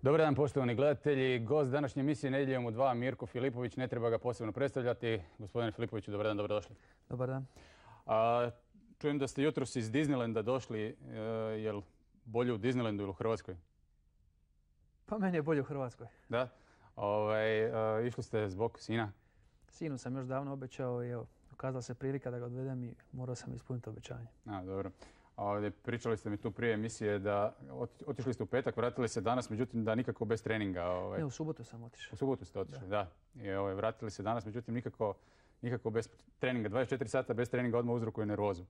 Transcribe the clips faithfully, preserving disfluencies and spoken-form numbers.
Dobar dan, poštovani gledatelji. Gost današnje emisije Nedjeljom u dva, Mirko Filipović, ne treba ga posebno predstavljati. Gospodine Filipoviću, dobar dan, dobrodošli. Dobar dan. A, čujem da ste jutros iz Disneylanda došli. E, jel bolje u Disneylandu ili u Hrvatskoj? Pa meni je bolje u Hrvatskoj. Da? Ovaj, a, išli ste zbog sina? Sinu sam još davno obećao i evo, ukazala se prilika da ga odvedem i morao sam ispuniti obećanje. A, dobro. Ovdje pričali ste mi tu prije emisije da otišli ste u petak, vratili se danas, međutim da nikako bez treninga. Ovaj. Ne, u subotu sam otišao. U subotu ste otišli, da. da. I ovaj, vratili se danas, međutim nikako, nikako bez treninga. dvadeset četiri sata bez treninga odmah uzrokuje nervozu.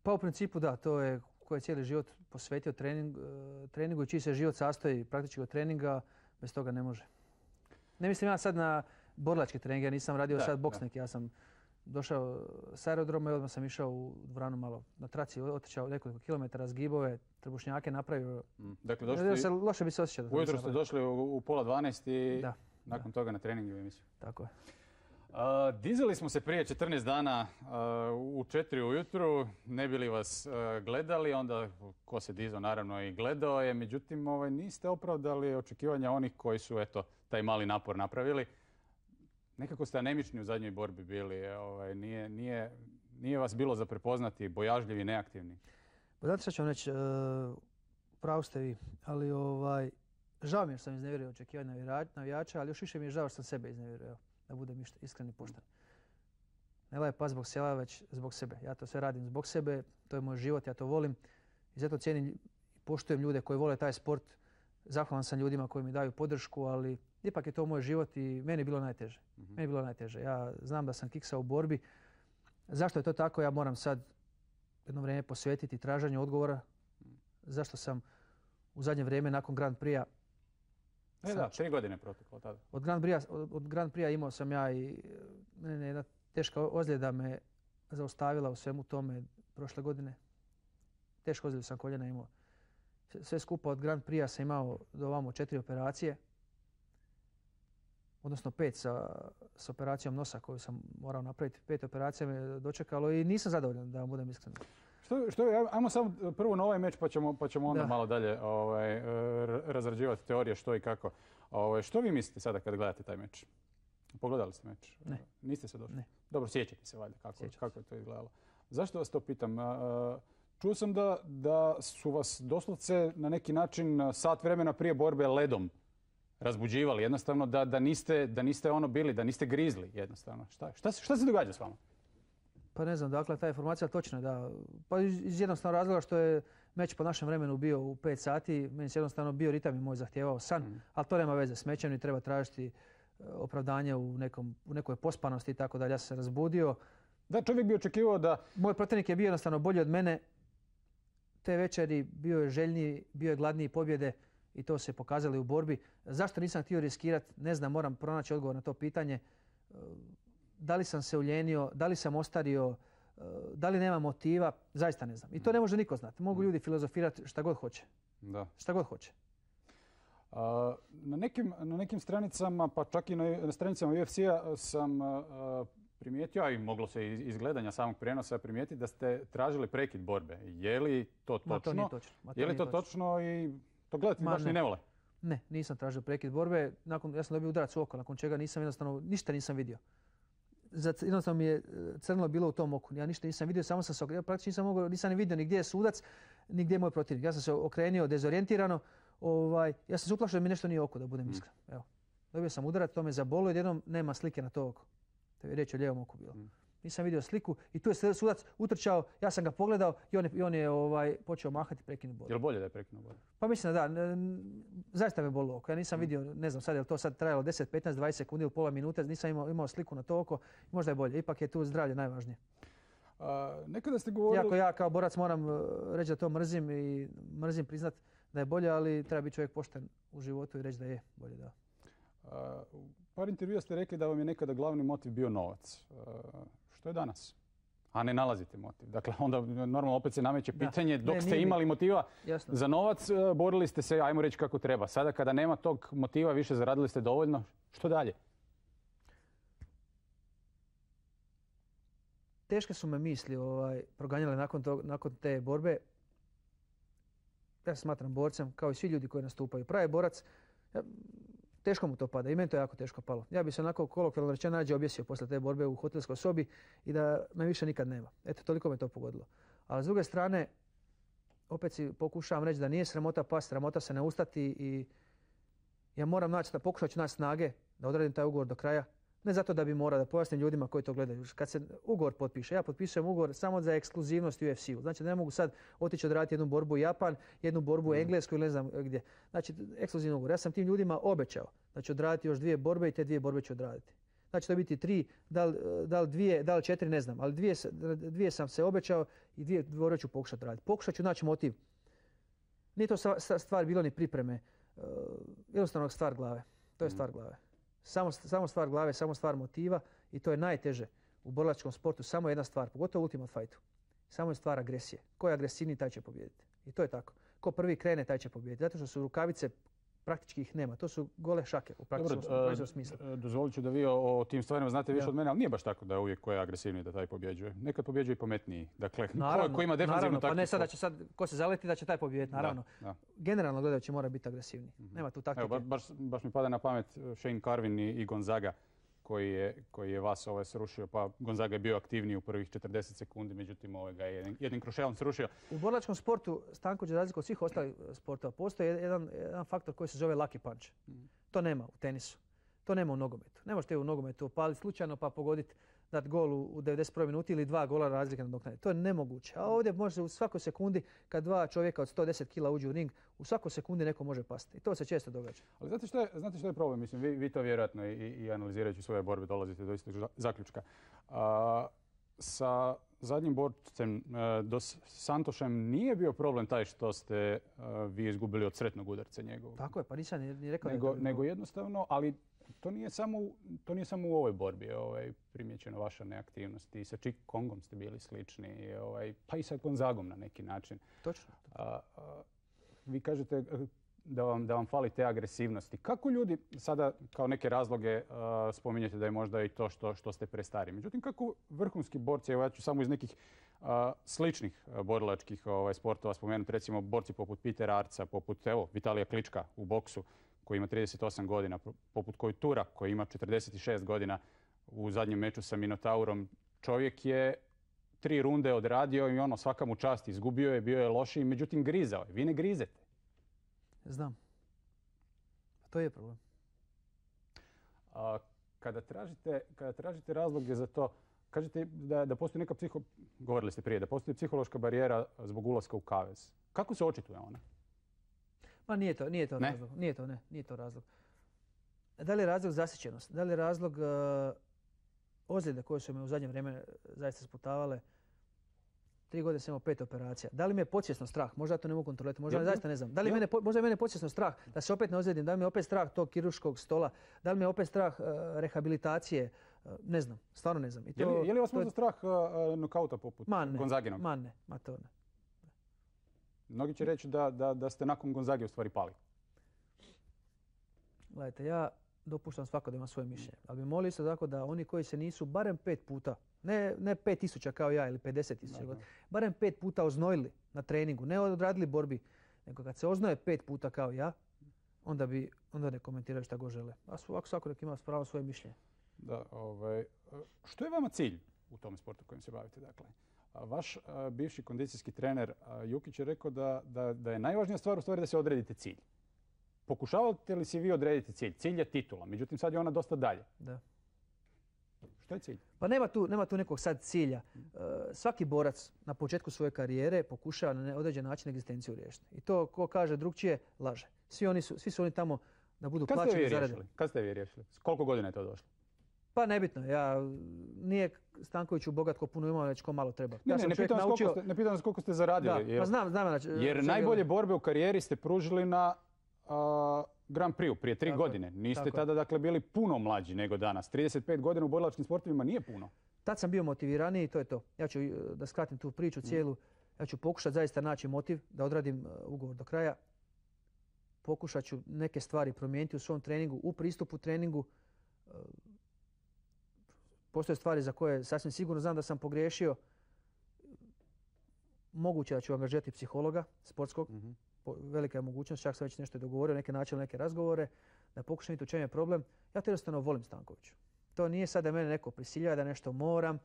Pa u principu da, to je ko je cijeli život posvetio trening, treningu i čiji se život sastoji praktički od treninga, bez toga ne može. Ne mislim ja sad na borilačke treninge, ja nisam radio da, sad boks neki, ja sam došao s aerodroma i odmah sam išao u dvoranu malo na traci, otišao nekoliko kilometara, zgibove, trbušnjake napravio. Mm. Dakle, došli, se, loše bi se osjećao. Ujutro ste došli u, u pola dvanaest i da, nakon da. toga na trening u emisiju. Tako je. Uh, dizali smo se prije četrnaest dana uh, u četiri ujutru, ne bili vas uh, gledali, onda ko se dizao naravno i gledao je, međutim ovaj, niste opravdali očekivanja onih koji su eto, taj mali napor napravili. Nekako ste anemični u zadnjoj borbi bili, ovaj, nije, nije, nije vas bilo za prepoznati, bojažljivi, neaktivni. Pa znate što ću vam reći, uh, pravu ste vi, ali ovaj, žao mi je što sam iznevjerio očekivanja navijača, ali još više mi je žao što sam sebe iznevjerio, da budem iskren i pošten. Ne laje pas zbog sela, već zbog sebe. Ja to sve radim zbog sebe, to je moj život, ja to volim i zato cijenim i poštujem ljude koji vole taj sport. Zahvalan sam ljudima koji mi daju podršku, ali ipak je to moj život i meni je bilo najteže. Mm-hmm. Meni je bilo najteže. Ja znam da sam kiksao u borbi. Zašto je to tako? Ja moram sad jedno vrijeme posvetiti traženju odgovora. Zašto sam u zadnje vrijeme nakon Grand Prix-a... E da, tri godine proteklo tada. Od Grand Prix-a, od, od Grand Prix-a imao sam ja i ne, jedna teška ozljeda me zaustavila u svemu tome prošle godine. Teško ozljedu sam koljena imao. Sve skupa od Grand Prix-a sam imao do ovamo četiri operacije. Odnosno pet sa, s operacijom nosa koju sam morao napraviti. Pet operacija me dočekalo i nisam zadovoljan, da vam budem iskren. Što, što, ajmo samo prvo na ovaj meč pa ćemo, pa ćemo onda da. malo dalje ovaj, razrađivati teorije što i kako. Ovaj, što vi mislite sada kad gledate taj meč? Pogledali ste meč? Ne. Niste se došli? Ne. Dobro, sjećate se valjda kako, kako je to izgledalo. Zašto vas to pitam? Čuo sam da, da su vas doslovce na neki način sat vremena prije borbe ledom razbuđivali, jednostavno da, da, niste, da niste ono bili, da niste grizli jednostavno. Šta, šta, šta se događa s vama? Pa ne znam, dakle ta informacija točna da. Pa iz jednostavnog razloga što je meč po našem vremenu bio u pet sati, meni se jednostavno bio ritam i moj zahtijevao san, mm. ali to nema veze s mečem i treba tražiti opravdanje u, nekom, u nekoj pospanosti i tako dalje. Ja sam se razbudio. Da, čovjek bi očekivao da... Moj protivnik je bio jednostavno bolji od mene. Te večeri bio je željniji, bio je gladniji pobjede. I to se pokazali u borbi. Zašto nisam htio riskirati? Ne znam, moram pronaći odgovor na to pitanje. Da li sam se uljenio, da li sam ostario, da li nema motiva, zaista ne znam. I to ne može niko znati. Mogu ljudi filozofirati šta god hoće. Da. Šta god hoće. A, na, nekim, na nekim stranicama, pa čak i na, na stranicama U F C-a sam a, primijetio, a i moglo se iz, iz gledanja samog prijenosa primijetiti da ste tražili prekid borbe. Je li to točno? Ma, to nije točno. Ma, to je li to točno. točno i... To gledati baš ne. ni ne vole? Ne, nisam tražio prekid borbe. Nakon, ja sam dobio udarac u oko, nakon čega nisam jednostavno, ništa nisam vidio. Jednostavno mi je crnilo bilo u tom oku. Ja ništa nisam vidio, samo sam se okrenio. Ja praktično nisam, mogao, nisam ni vidio ni gdje je sudac, ni gdje je moj protivnik. Ja sam se okrenio dezorijentirano. Ovaj, ja sam se uplašio da mi nešto nije oko, da budem mm. iskren. Evo. Dobio sam udarac, to me zabolo i odjednom nema slike na to oko. To je riječ o lijevom oku bilo. Mm. Nisam vidio sliku i tu je sudac utrčao, ja sam ga pogledao i on je, i on je ovaj, počeo mahati prekinuo borbu. Je li bolje da je prekinuo borbu? Pa mislim da da. Zaista me bolilo oko. Ja nisam mm. vidio, ne znam sad je li to sad trajalo deset, petnaest, dvadeset sekundi ili pola minute, nisam imao, imao sliku na to oko. Možda je bolje. Ipak je tu zdravlje najvažnije. A, nekada ste govorili... Iako ja kao borac moram reći da to mrzim i mrzim priznat da je bolje, ali treba biti čovjek pošten u životu i reći da je bolje, da. A, u par intervjua ste rekli da vam je nekada glavni motiv bio novac. A, što je danas? a ne nalazite motiv. Dakle, onda normalno opet se nameće Da. pitanje, dok Ne, ste nije mi- imali motiva Jasno. za novac, e, borili ste se, ajmo reći kako treba. Sada kada nema tog motiva, više zaradili ste dovoljno, što dalje? Teške su me misli ovaj, proganjale nakon, tog, nakon te borbe. Ja se smatram borcem, kao i svi ljudi koji nastupaju. Pravi borac, ja, teško mu to pada i meni to jako teško palo. Ja bi se onako kolokvijalno rečeno rađe objesio posle te borbe u hotelskoj sobi i da me više nikad nema. Eto, toliko me to pogodilo. Ali s druge strane, opet si pokušavam reći da nije sramota past, sramota se ne ustati i ja moram naći, pokušat ću naći snage da odradim taj ugovor do kraja. Ne zato da bi morao da pojasnim ljudima koji to gledaju. Kad se ugovor potpiše, ja potpisujem ugovor samo za ekskluzivnost u U F C-u. Znači da ne mogu sad otići odraditi jednu borbu u Japan, jednu borbu u Englesku ili ne znam gdje. Znači ekskluzivni ugovor. Ja sam tim ljudima obećao da ću odraditi još dvije borbe i te dvije borbe ću odraditi. Znači to biti tri, da li, da li dvije, da li četiri, ne znam. Ali dvije, dvije sam se obećao i dvije borbe ću pokušati raditi. Pokušat ću naći motiv. Nije to stvar bilo ni pripreme. Uh, jednostavno stvar glave. To je stvar glave. Samo, samo stvar glave, samo stvar motiva i to je najteže u borilačkom sportu. Samo jedna stvar, pogotovo u Ultimate Fightu. Samo je stvar agresije. Ko je agresivniji, taj će pobijediti. I to je tako. Ko prvi krene, taj će pobijediti. Zato što su rukavice, praktički ih nema. To su gole šake u praktičnom Dobro, smislu. Dozvolit ću da vi o, o tim stvarima znate više Ja. od mene, ali nije baš tako da je uvijek ko je agresivniji da taj pobjeđuje. Nekad pobjeđuje i pametniji. Dakle, Naravno, ko, ko ima defensivnu naravno, pa taktiku. ne sad da će sad, ko se zaleti da će taj pobijediti, naravno. Da, da. Generalno gledajući mora biti agresivniji. Nema tu taktike. Evo, ba- baš, baš mi pada na pamet Shane Carvin i, i Gonzaga koji je, koji je vas ovaj srušio. Pa Gonzaga je bio aktivniji u prvih četrdeset sekundi, međutim ovaj ga je jednim, jednim krušelom srušio. U borilačkom sportu, Stanko, za razliku od svih ostalih sportova, postoji jedan, jedan faktor koji se zove lucky punch. To nema u tenisu. To nema u nogometu. Ne možete u nogometu opaliti slučajno pa pogoditi, dati gol u, u devedeset prvoj minuti ili dva gola razlike nadoknaditi. To je nemoguće. A ovdje može u svakoj sekundi kad dva čovjeka od sto deset kila uđu u ring, u svakoj sekundi neko može pasti. I to se često događa. Ali znate što je, znate što je problem? Mislim, vi, vi to vjerojatno i, i analizirajući svoje borbe dolazite do istog zaključka. A, sa zadnjim borcem uh, Dos Santošem nije bio problem taj što ste uh, vi izgubili od sretnog udarca njegovog. Tako je, pa nisam ni, ni rekao Nego, da je to nego jednostavno, ali to nije samo, u- to nije samo u ovoj borbi ovaj, primjećena vaša neaktivnost. I sa Chick Kongom ste bili slični, i, ovaj, pa i sa Gonzagom na neki način. točno. A, a, vi kažete eh, da vam, da vam fali te agresivnosti. Kako ljudi sada kao neke razloge a, spominjete da je možda i to što, što ste prestari. Međutim, kako vrhunski borci, evo ja ću samo iz nekih a, sličnih a, borilačkih ovaj, sportova spomenuti, recimo borci poput Petera Arca, poput evo, Vitalija Klička u boksu koji ima trideset osam godina, poput Kojtura koji ima četrdeset šest godina u zadnjem meču sa Minotaurom. Čovjek je tri runde odradio i ono svaka mu čast, izgubio je, bio je lošiji, međutim grizao je. Vi ne grizete. Znam. To je problem. A, kada, tražite, kada tražite razloge za to, kažete da, da postoji neka psiho... Govorili ste prije, da postoji psihološka barijera zbog ulaska u kavez. Kako se očituje ona? Ma nije to, nije to Ne? razlog. Nije to, ne, nije to razlog. Da li je razlog zasićenost? Da li je razlog uh, ozljede koje su me u zadnje vrijeme zaista sputavale? Tri godine sam imao pet operacija. Da li me je podsvjesno strah? Možda ja to ne mogu kontrolirati, možda Jel- zaista ne znam. Da li jel- mene, po- možda je mene podsvjesno strah da se opet ne ozlijedim, da li me je opet strah tog kirurškog stola, da li me je opet strah uh, rehabilitacije, uh, ne znam, stvarno ne znam. I Je li, je li vas to je- možda strah uh, nokauta poput Ma ne, Gonzaginog? ma ne, ma to ne. Mnogi će reći da, da, da ste nakon Gonzage u stvari pali. Gledajte, ja dopuštam svako da ima svoje mišljenje. Ali bi molio isto tako da oni koji se nisu barem pet puta, ne, ne pet tisuća kao ja ili pedeset tisuća, Da, da. barem pet puta oznojili na treningu, ne odradili borbi, nego kad se oznoje pet puta kao ja, onda bi onda ne komentiraju šta god žele. A svako, svako nek ima pravo svoje mišljenje. Da, ovaj, što je vama cilj u tom sportu kojim se bavite? Dakle, A vaš a, bivši kondicijski trener a, Jukić je rekao da, da, da je najvažnija stvar u stvari da se odredite cilj. Pokušavate li si vi odrediti cilj? Cilj je titula, međutim sad je ona dosta dalje. Da. Što je cilj? Pa nema tu, nema tu nekog sad cilja. E, svaki borac na početku svoje karijere pokušava na određen način egzistenciju riješiti. I to ko kaže drugčije, laže. Svi, oni su, svi su oni tamo da budu Kad ste plaćeni vi zarade. riješili? Kad ste vi riješili? S koliko godina je to došlo? Pa nebitno, ja nije Stankoviću bogat ko puno ima, već ko malo treba. Ne, ja ne, sam ne čovjek pitam, vas naučio... koliko ste, ne pitam vas koliko ste Da, zaradili. pa jer znam, znam. Znači, jer čega- najbolje borbe u karijeri ste pružili na a, Grand Prix prije tri Tako je, godine. Niste tako je. tada dakle bili puno mlađi nego danas. trideset pet godina u borilačkim sportovima nije puno. tad sam bio motiviraniji i to je to. Ja ću, da skratim tu priču cijelu, ja ću pokušati zaista naći motiv da odradim ugovor do kraja. Pokušat ću neke stvari promijeniti u svom treningu, u pristupu treningu. Postoje stvari za koje sasvim sigurno znam da sam pogriješio. Moguće da ću angažirati psihologa sportskog. Mm-hmm. Velika je mogućnost, čak sam već nešto dogovorio, neke načine, neke razgovore, da pokušam vidjeti u čem je problem. Ja to jednostavno volim Stankoviću. To nije sad da mene neko prisiljava da nešto moram.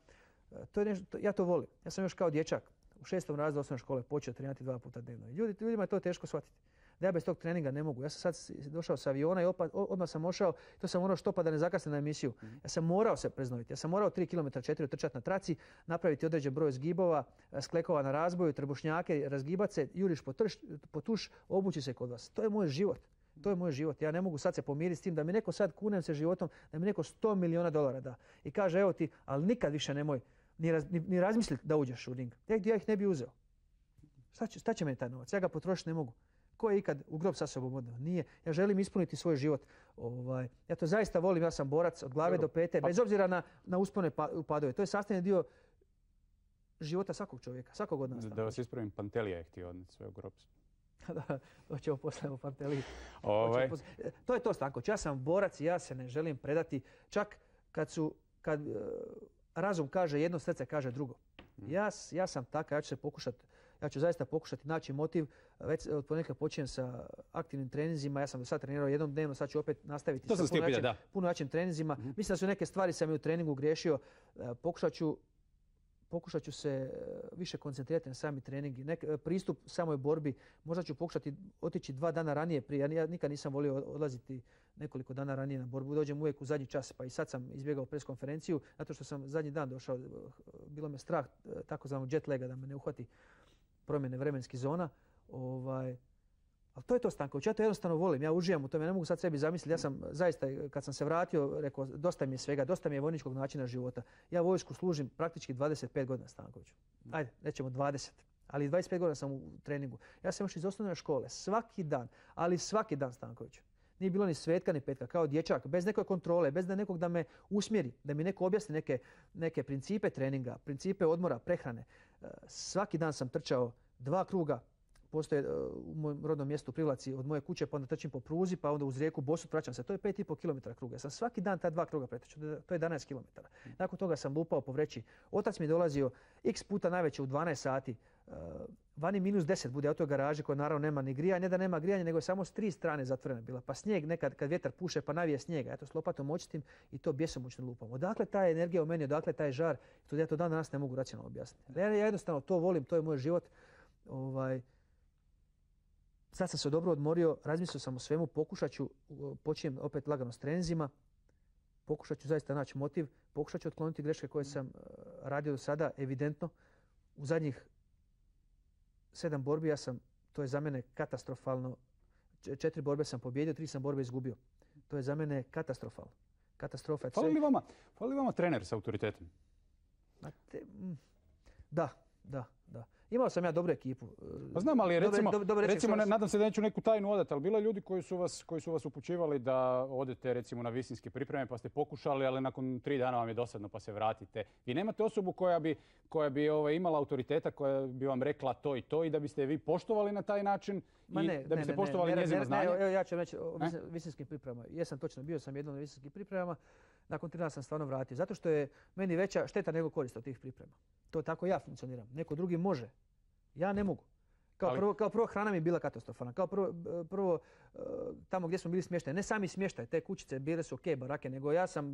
To je nešto, ja to volim. Ja sam još kao dječak u šestom razredu osnovne škole počeo trenirati dva puta dnevno. Ljudi, ljudima je to teško shvatiti. Da ja bez tog treninga ne mogu. Ja sam sad došao sa aviona i opa, odmah sam ošao. To sam morao štopa da ne zakasnim na emisiju. Ja sam morao se preznojiti. Ja sam morao tri kilometra četiri otrčati na traci, napraviti određen broj zgibova, sklekova na razboju, trbušnjake, razgibat se, juriš po, trš, po tuš, obući se kod vas. To je moj život. To je moj život. Ja ne mogu sad se pomiriti s tim da mi neko sad, kunem se životom, da mi neko sto milijuna dolara da. I kaže, evo ti, ali nikad više nemoj ni, raz, ni, ni razmisliti da uđeš u ring. Ja, ja ih ne bi uzeo. Šta će, šta će meni taj novac? Ja ga potrošiti ne mogu. Ko je ikad u grob sa sobom odneo? Nije. Ja želim ispuniti svoj život. Ovaj, ja to zaista volim. Ja sam borac od glave do pete, bez obzira na, na uspone pa, upadove. To je sastavni dio života svakog čovjeka, svakog od nas. Da vas ispravim, Pantelija je htio odneti svoj grob. Da, doćemo poslije u Panteliji. Ovaj. To je to, Stanković. Ja sam borac i ja se ne želim predati. Čak kad, su, kad uh, razum kaže jedno, srce kaže drugo. Hmm. Ja, ja sam takav, ja ću se pokušati Ja ću zaista pokušati naći motiv. Već od ponekad počinjem sa aktivnim treninzima. Ja sam do sad trenirao jednom dnevno, sad ću opet nastaviti to sa puno, jačim, puno jačim treninzima. Mm-hmm. Mislim da su neke stvari sam i u treningu griješio. Pokušat ću, pokušat ću se više koncentrirati na sami trening. Nek, pristup samoj borbi. Možda ću pokušati otići dva dana ranije prije. Ja nikad nisam volio odlaziti nekoliko dana ranije na borbu. Dođem uvijek u zadnji čas, pa i sad sam izbjegao pres konferenciju, zato što sam zadnji dan došao. Bilo me strah takozvanog jet laga da me ne uhvati promjene vremenskih zona. Ovaj, ali to je to, Stanković. Ja to jednostavno volim. Ja uživam u tome. Ja ne mogu sad sebi zamisliti. Ja sam zaista, kad sam se vratio, rekao, dosta mi je svega, dosta mi je vojničkog načina života. Ja vojsku služim praktički dvadeset pet godina, Stankoviću. Ajde, nećemo dvadeset. Ali dvadeset pet godina sam u treningu. Ja sam još iz osnovne škole. Svaki dan, ali svaki dan, Stankoviću. Nije bilo ni svetka ni petka, kao dječak, bez neke kontrole, bez da nekog da me usmjeri, da mi neko objasni neke, neke principe treninga, principe odmora, prehrane. Svaki dan sam trčao dva kruga, postoje u mojem rodnom mjestu Privlaci od moje kuće, pa onda trčim po pruzi, pa onda uz rijeku Bosut vraćam se. To je pet i pol kilometara kruga. Ja sam svaki dan ta dva kruga pretrčao, to je jedanaest kilometara. Nakon toga sam lupao po vreći. Otac mi je dolazio x puta najveće u dvanaest sati. Vani minus deset bude, u toj garaži koja naravno nema ni grijanja, ne da nema grijanja, nego je samo s tri strane zatvorena bila. Pa snijeg nekad, kad vjetar puše, pa navije snijega. Ja to s lopatom očistim i to bjesomučno lupam. Odakle ta energija u meni, odakle taj žar, to ja to dan danas ne mogu racionalno objasniti. Ja jednostavno to volim, to je moj život. Ovaj, sad sam se dobro odmorio, razmislio sam o svemu, pokušat ću, počinjem opet lagano s treninzima, pokušat ću zaista naći motiv, pokušat ću otkloniti greške koje sam radio do sada, evidentno. U zadnjih sedam borbi ja sam, to je za mene katastrofalno, četiri borbe sam pobjedio, tri sam borbe izgubio. To je za mene katastrofalno. Katastrofa. Fali li vama, fali li vama trener s autoritetom? Da, da, da. Imao sam ja dobru ekipu. Pa znam, ali recimo, dobre, dobre recimo ne, nadam se da neću neku tajnu odati, ali bilo je ljudi koji su vas, koji su vas upućivali da odete recimo na visinske pripreme pa ste pokušali, ali nakon tri dana vam je dosadno pa se vratite. Vi nemate osobu koja bi, koja bi ovaj, imala autoriteta, koja bi vam rekla to i to i da biste vi poštovali na taj način Ma i ne, da biste ne, poštovali ne, njezino ne, znanje? Ne, evo ja ću reći o visinskim pripremama. Jesam točno, bio sam jednom na visinskim pripremama. Nakon tri dana sam stvarno vratio. Zato što je meni veća šteta nego korist od tih priprema. To tako ja funkcioniram. Neko drugi može. Ja ne mogu. Kao, ali... prvo, kao prvo hrana mi je bila katastrofalna. Kao prvo, prvo tamo gdje smo bili smješteni, ne sami smještaj, te kućice bile su ok, barake, nego ja sam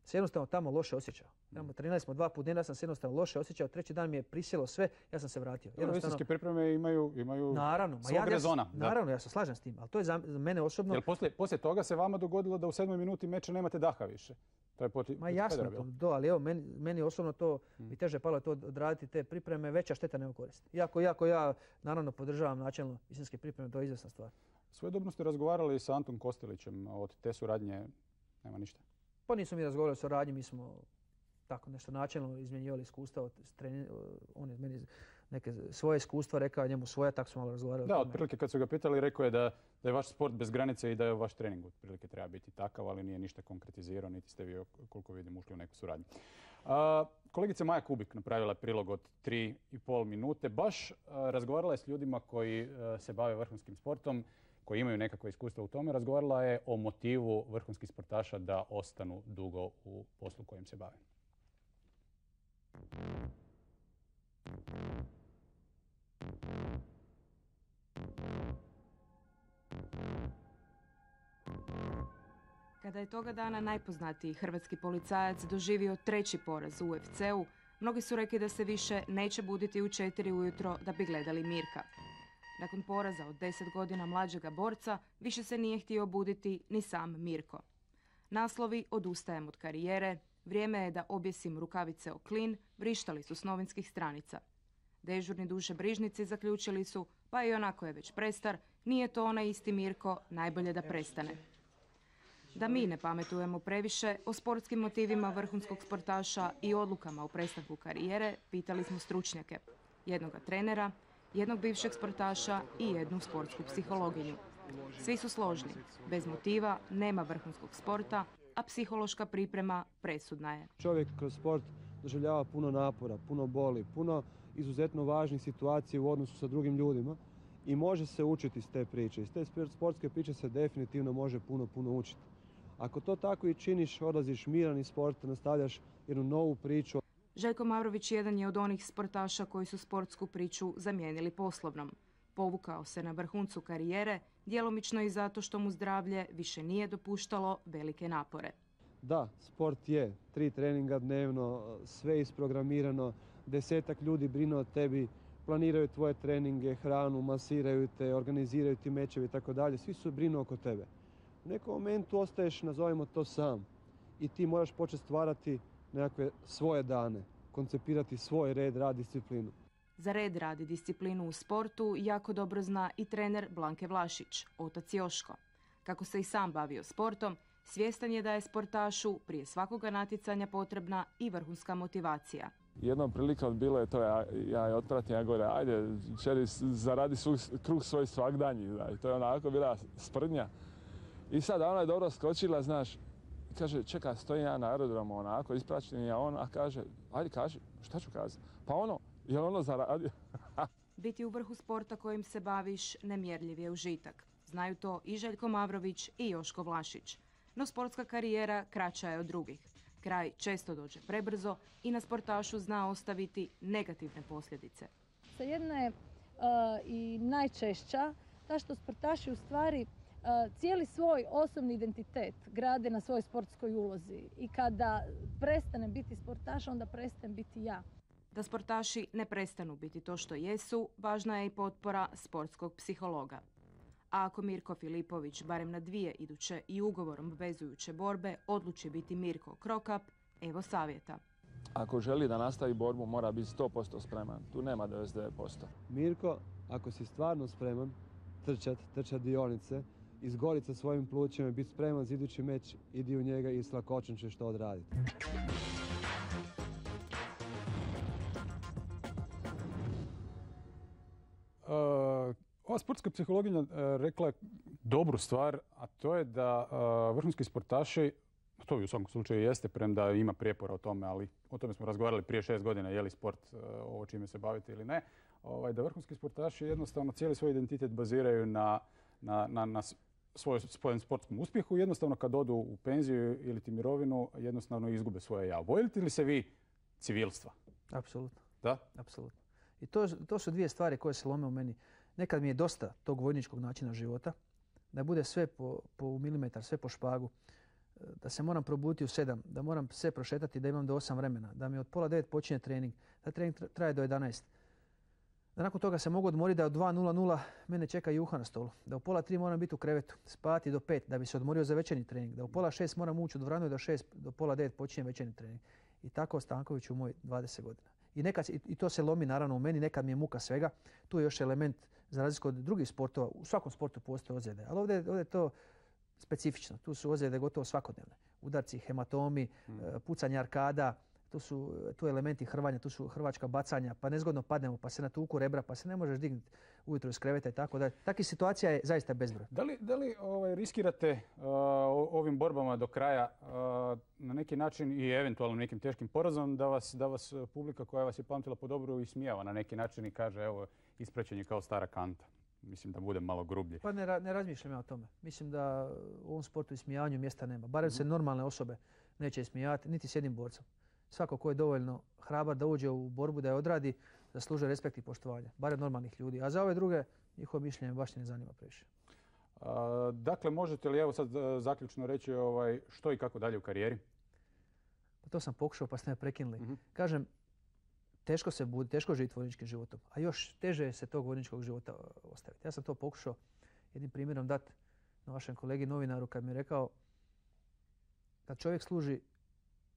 se jednostavno tamo loše osjećao. Tamo trenirali smo dva puta dnevno, ja sam se jednostavno loše osjećao. Treći dan mi je prisjelo sve, ja sam se vratio. Visinske pripreme imaju, imaju naravno, svog ja, rezona. Naravno, ja se slažem s tim, ali to je za, za mene osobno... Jel poslije, poslije toga se vama dogodilo da u sedmoj minuti meča nemate daha više? To je poti, Ma jasno to, to, ali evo, meni, meni osobno to hmm. bi teže palo to odraditi te pripreme, veća šteta nego korist. Iako, iako ja naravno podržavam načelno visinske pripreme, to je izvjesna stvar. Svojedobno ste razgovarali sa Antom Kostelićem, od te suradnje nema ništa? Pa nismo mi razgovarali o suradnji, mi smo tako nešto načelno izmjenjivali iskustva. On je meni neke svoje iskustva rekao, njemu svoja, tako smo malo razgovarali. Da, otprilike kad su ga pitali, rekao je da, da je vaš sport bez granice i da je vaš trening otprilike treba biti takav, ali nije ništa konkretizirao, niti ste vi, koliko vidim, ušli u neku suradnju. Kolegica Maja Kubik napravila je prilog od tri i pol minute. Baš razgovarala je s ljudima koji se bave vrhunskim sportom, koji imaju nekakvo iskustvo u tome. Razgovarala je o motivu vrhunskih sportaša da ostanu dugo u poslu kojim se bave. Kada je toga dana najpoznatiji hrvatski policajac doživio treći poraz u U F C-u, mnogi su rekli da se više neće buditi u četiri ujutro da bi gledali Mirka. Nakon poraza od deset godina mlađega borca, više se nije htio buditi ni sam Mirko. Naslovi "Odustajem od karijere", "Vrijeme je da objesim rukavice o klin" vrištali su s novinskih stranica. Dežurni dušebrižnici zaključili su, pa i onako je već prestar, nije to onaj isti Mirko, najbolje da prestane. Da mi ne pametujemo previše o sportskim motivima vrhunskog sportaša i odlukama o prestanku karijere, pitali smo stručnjake. Jednoga trenera, jednog bivšeg sportaša i jednu sportsku psihologinju. Svi su složni. Bez motiva nema vrhunskog sporta, a psihološka priprema presudna je. Čovjek kroz sport doživljava puno napora, puno boli, puno izuzetno važnih situacija u odnosu sa drugim ljudima i može se učiti iz te priče. Iz te sportske priče se definitivno može puno, puno učiti. Ako to tako i činiš, odlaziš miran iz sporta, nastavljaš jednu novu priču. Željko Mavrović jedan je od onih sportaša koji su sportsku priču zamijenili poslovnom. Povukao se na vrhuncu karijere, djelomično i zato što mu zdravlje više nije dopuštalo velike napore. Da, sport je. Tri treninga dnevno, sve isprogramirano, desetak ljudi brine o tebi, planiraju tvoje treninge, hranu, masiraju te, organiziraju ti mečevi i tako dalje. Svi su brinu oko tebe. U nekom momentu ostaješ, nazovimo to, sam. I ti moraš početi stvarati nekakve svoje dane, koncipirati svoj red, rad, disciplinu. Za red, rad i disciplinu u sportu jako dobro zna i trener Blanke Vlašić, otac Joško. Kako se i sam bavio sportom, svjestan je da je sportašu prije svakoga natjecanja potrebna i vrhunska motivacija. Jednom prilikom bilo je to, ja, ja je otpratim, ja gore, ajde, čeri, zaradi svoj, kruh svoj svagdanji, znači, to je onako bila sprdnja. I sad ona je dobro skočila, znaš, kaže, čeka, stojim ja na aerodromu, onako, ispraćen je on, a kaže, ajde, kaži, šta ću kazati? Pa ono, je ono zaradio? Biti u vrhu sporta kojim se baviš nemjerljiv je užitak. Znaju to i Željko Mavrović i Joško Vlašić. No sportska karijera kraća je od drugih. Kraj često dođe prebrzo i na sportašu zna ostaviti negativne posljedice. Sa jedna je uh, i najčešća ta što sportaši u stvari Uh, cijeli svoj osobni identitet grade na svojoj sportskoj ulozi i kada prestanem biti sportaš, onda prestanem biti ja. Da sportaši ne prestanu biti to što jesu, važna je i potpora sportskog psihologa. A ako Mirko Filipović barem na dvije iduće i ugovorom obvezujuće borbe odluči biti Mirko Krokap, evo savjeta. Ako želi da nastavi borbu, mora biti sto posto spreman. Tu nema devedeset devet posto. Mirko, ako si stvarno spreman trčat, trčat dionice, izgorit sa svojim plućima i biti spreman za idući meč, idi u njega i s lakoćom ćeš to odraditi. Uh, ova sportska psihologinja uh, rekla je dobru stvar, a to je da uh, vrhunski sportaši, to u svakom slučaju jeste, premda ima prijepora o tome, ali o tome smo razgovarali prije šest godina, je li sport uh, ovo čime se bavite ili ne, ovaj, da vrhunski sportaši jednostavno cijeli svoj identitet baziraju na, na, na, na svoj sportskom uspjehu. Jednostavno kad odu u penziju ili ti mirovinu, jednostavno izgube svoje ja. Bojite li se vi civilstva? Apsolutno. Da? Apsolutno. I to, to su dvije stvari koje se lome u meni. Nekad mi je dosta tog vojničkog načina života, da bude sve po, po milimetar, sve po špagu, da se moram probuditi u sedam, da moram sve prošetati, da imam do osam vremena, da mi od pola devet počinje trening, da trening traje do jedanaest. Da nakon toga se mogu odmoriti, da od dva nula nula mene čeka juha na stolu, da u pola tri moram biti u krevetu, spati do pet da bi se odmorio za večernji trening, da u pola šest moram ući u dvoranu i do šest, do pola devet počinje večernji trening. I tako Stanković u moj dvadeset godina. I, nekad, i to se lomi naravno u meni, nekad mi je muka svega. Tu je još element, za razliku od drugih sportova, u svakom sportu postoje ozljede, ali ovdje, ovdje je to specifično. Tu su ozljede gotovo svakodnevne. Udarci, hematomi, hmm. pucanje arkada, tu su tu elementi hrvanja, tu su hrvačka bacanja, pa nezgodno padnemo, pa se natuku rebra, pa se ne možeš dignuti ujutro iz kreveta i tako da. Takvih situacija je zaista bezbroj. Da li, da li ovaj, riskirate uh, ovim borbama do kraja uh, na neki način i eventualno nekim teškim porazom da vas, da vas publika koja vas je pamtila po dobru ismijava na neki način i kaže evo ispraćen je kao stara kanta? Mislim da bude malo grublje. Pa ne, ra- ne razmišljam ja o tome. Mislim da u ovom sportu ismijavanju mjesta nema. Barem se normalne osobe neće ismijavati, niti s jednim borcem. Svako ko je dovoljno hrabar da uđe u borbu, da je odradi, zaslužuje respekt i poštovanje. Barem normalnih ljudi. A za ove druge, njihovo mišljenje baš ne zanima previše. A, dakle, možete li evo sad zaključno reći ovaj, što i kako dalje u karijeri? Pa to sam pokušao pa ste me prekinuli. Mhm. Kažem, teško se budi, teško živjeti vojničkim životom, a još teže je se tog vojničkog života ostaviti. Ja sam to pokušao jednim primjerom dati na vašem kolegi novinaru kad mi je rekao kad čovjek služi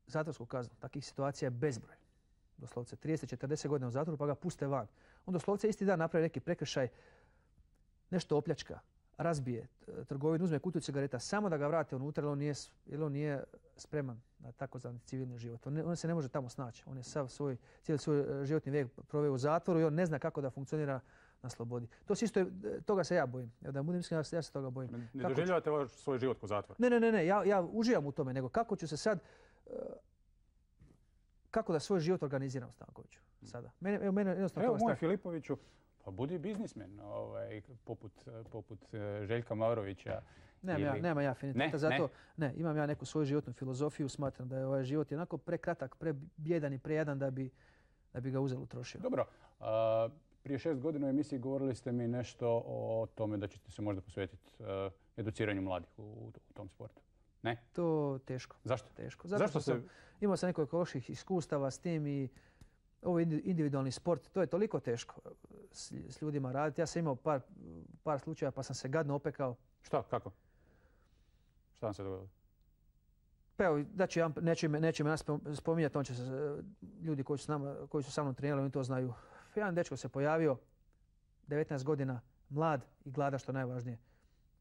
zatvorsku kaznu, takvih situacija je bezbroj. Doslovce trideset četrdeset godina u zatvoru pa ga puste van. On doslovce isti dan napravi neki prekršaj, nešto opljačka, razbije trgovinu, uzme kutiju cigareta, samo da ga vrate unutra jer on nije, jer on nije spreman na takozvani civilni život. On, ne, on se ne može tamo snaći. On je sav svoj, cijeli svoj životni vijek proveo u zatvoru i on ne zna kako da funkcionira na slobodi. To se isto, toga se ja bojim. Ja da budem iskren, ja se toga bojim. Ne, ne doživljavate vaš svoj život ko zatvor? Ne, ne, ne, ne. Ja, ja uživam u tome, nego kako ću se sad, uh, kako da svoj život organiziram, Stankoviću, sada. Mene, evo, mene jednostavno Evo, toga moj strah. Filipoviću, pa budi biznismen, ovaj, poput, poput uh, Željka Mavrovića. Nemam ili... ja, nema ja afiniteta Ne, za ne. to. Ne, imam ja neku svoju životnu filozofiju. Smatram da je ovaj život onako prekratak, prebjedan i prejadan da bi, da bi ga uzelo trošio. Dobro. A, prije šest godina u emisiji govorili ste mi nešto o tome da ćete se možda posvetiti uh, educiranju mladih u, u tom sportu. Ne? To teško. Zašto? Teško. Zato Zašto što se... sam imao sam nekoliko loših iskustava s tim i ovo individualni sport, to je toliko teško s, s ljudima raditi. Ja sam imao par, par slučaja pa sam se gadno opekao. Šta? Kako? Šta vam se dogodilo? Pa evo, da ću ja, neću ime, neću ime spominjati, on će se, ljudi koji su, s nama, koji su sa mnom trenirali, oni to znaju. Jedan dečko se pojavio, devetnaest godina, mlad i glada, što najvažnije.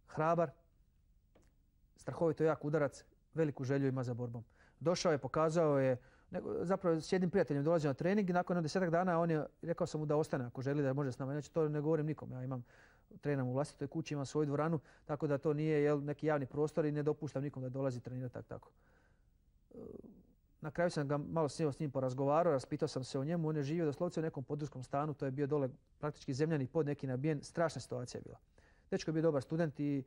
Hrabar, strahovito jak udarac, veliku želju ima za borbom. Došao je, pokazao je, zapravo s jednim prijateljem dolazio na trening i nakon desetak dana on je, rekao sam mu da ostane ako želi da može s nama. Znači to ne govorim nikom, ja imam, trenam u vlastitoj kući, imam svoju dvoranu, tako da to nije jel, neki javni prostor i ne dopuštam nikom da dolazi trenirati tak, tako. Na kraju sam ga malo sjeo s njim porazgovarao, raspitao sam se o njemu, on je živio doslovce u nekom područnom stanu, to je bio dole praktički zemljani pod neki nabijen, strašna situacija je bila. Dečko je bio dobar student i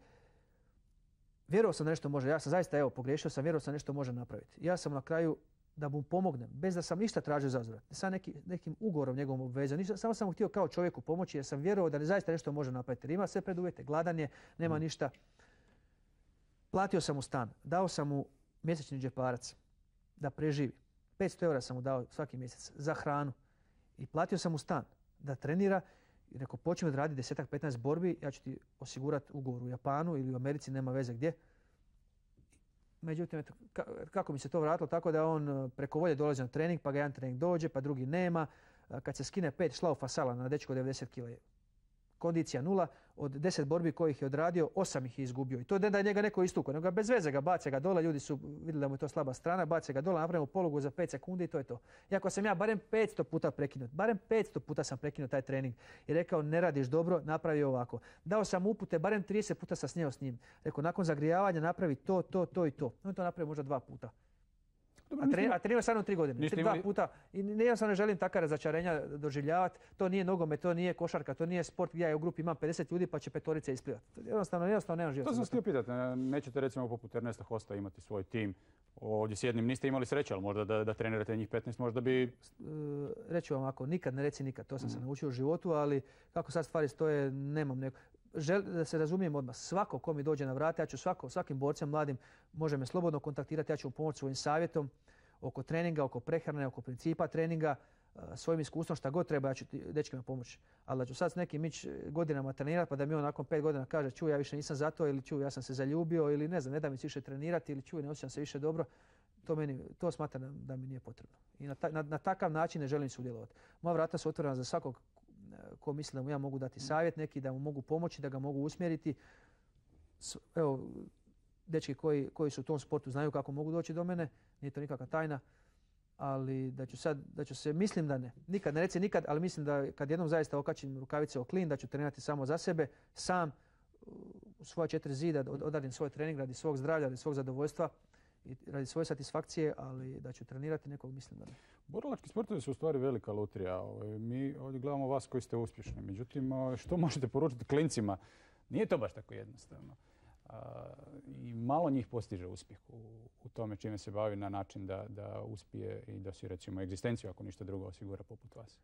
vjerovao sam da nešto može, ja sam zaista evo pogriješio sam, vjerovao sam da nešto može napraviti. Ja sam na kraju da mu pomognem, bez da sam ništa tražio za uzvrat, sa neki, nekim ugovorom njegovom obvezom, ništa, samo sam mu htio kao čovjeku pomoći jer sam vjerovao da ne zaista nešto može napraviti. Jer ima sve preduvjete, gladan je, nema mm. ništa. Platio sam mu stan, dao sam mu mjesečni džeparac da preživi. petsto eura sam mu dao svaki mjesec za hranu i platio sam mu stan da trenira i rekao počinje da radi deset petnaest borbi, ja ću ti osigurati ugovor u Japanu ili u Americi, nema veze gdje. Međutim, eto, kako mi se to vratilo, tako da on preko volje dolazi na trening, pa ga jedan trening dođe, pa drugi nema. Kad se skine pet šlaufa sala na dečko devedeset kila, kondicija nula, od deset borbi kojih je odradio, osam ih je izgubio. I to ne da je njega neko istukao, nego ga bez veze ga bace ga dole, ljudi su vidjeli da mu je to slaba strana, bace ga dole, napravimo polugu za pet sekundi i to je to. Iako sam ja barem petsto puta prekinut, barem petsto puta sam prekinuo taj trening i rekao ne radiš dobro, napravi ovako. Dao sam upute, barem trideset puta sam snijao s njim. Rekao nakon zagrijavanja napravi to, to, to i to. On to napravi možda dva puta. Dobro, a, tre, a trenirao sam tri godine, tri, imali... dva puta i jednostavno ne želim takva razočarenja doživljavati. To nije nogomet, to nije košarka, to nije sport gdje ja u grupi imam pedeset ljudi pa će petorice isplivati. Jednostavno, jednostavno nemam život. To sam htio pitati, nećete recimo poput Ernesta Hosta imati svoj tim. Ovdje s jednim niste imali sreće, ali možda da, da trenirate njih petnaest, možda bi... Uh, reću vam ovako, nikad ne reci nikad, to sam mm. se naučio u životu, ali kako sad stvari stoje, nemam neko... Žel, da se razumijem odmah, svako ko mi dođe na vrata, ja ću svako, svakim borcem mladim može me slobodno kontaktirati, ja ću mu pomoći svojim savjetom oko treninga, oko prehrane, oko principa treninga, svojim iskustvom šta god treba, ja ću dečkima pomoći. Ali da ću sad s nekim ići godinama trenirati pa da mi on nakon pet godina kaže čuj ja više nisam za to ili čuj ja sam se zaljubio ili ne znam, ne da mi se više trenirati ili čuj ne osjećam se više dobro, to, meni, to smatram da, da mi nije potrebno. I na, ta, na, na takav način ne želim sudjelovati. Moja vrata su otvorena za svakog ko misli da mu ja mogu dati savjet neki, da mu mogu pomoći, da ga mogu usmjeriti. Evo, dečki koji, koji su u tom sportu znaju kako mogu doći do mene, nije to nikakva tajna. ali da ću sad, da ću se, mislim da ne. Nikad, ne reci nikad, ali mislim da kad jednom zaista okačim rukavice o klin, da ću trenirati samo za sebe, sam u svoja četiri zida odradim svoj trening radi svog zdravlja, radi svog zadovoljstva i radi svoje satisfakcije, ali da ću trenirati nekog, mislim da ne. Borilački sportovi su u stvari velika lutrija. Mi ovdje gledamo vas koji ste uspješni. Međutim, što možete poručiti klincima? Nije to baš tako jednostavno. I malo njih postiže uspjeh u, u tome čime se bavi na način da, da uspije i da si recimo egzistenciju, ako ništa drugo, osigura poput vas.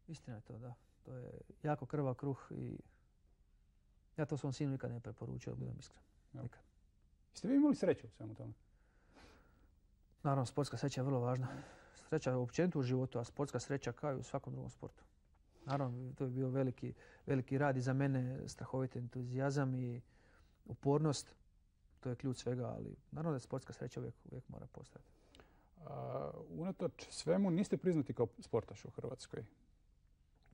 Istina je to, da. To je jako krvav kruh i ja to svom sinu nikad ne preporučio, da budem iskren. Nikad. Jeste vi imali sreću u svemu tome? Naravno, sportska sreća je vrlo važna. Sreća je općenito u životu, a sportska sreća kao i u svakom drugom sportu. Naravno, to je bio veliki, veliki rad i za mene, strahovit entuzijazam i upornost. To je ključ svega, ali naravno da sportska sreća uvijek, uvijek mora postojati. Unatoč svemu niste priznati kao sportaš u Hrvatskoj?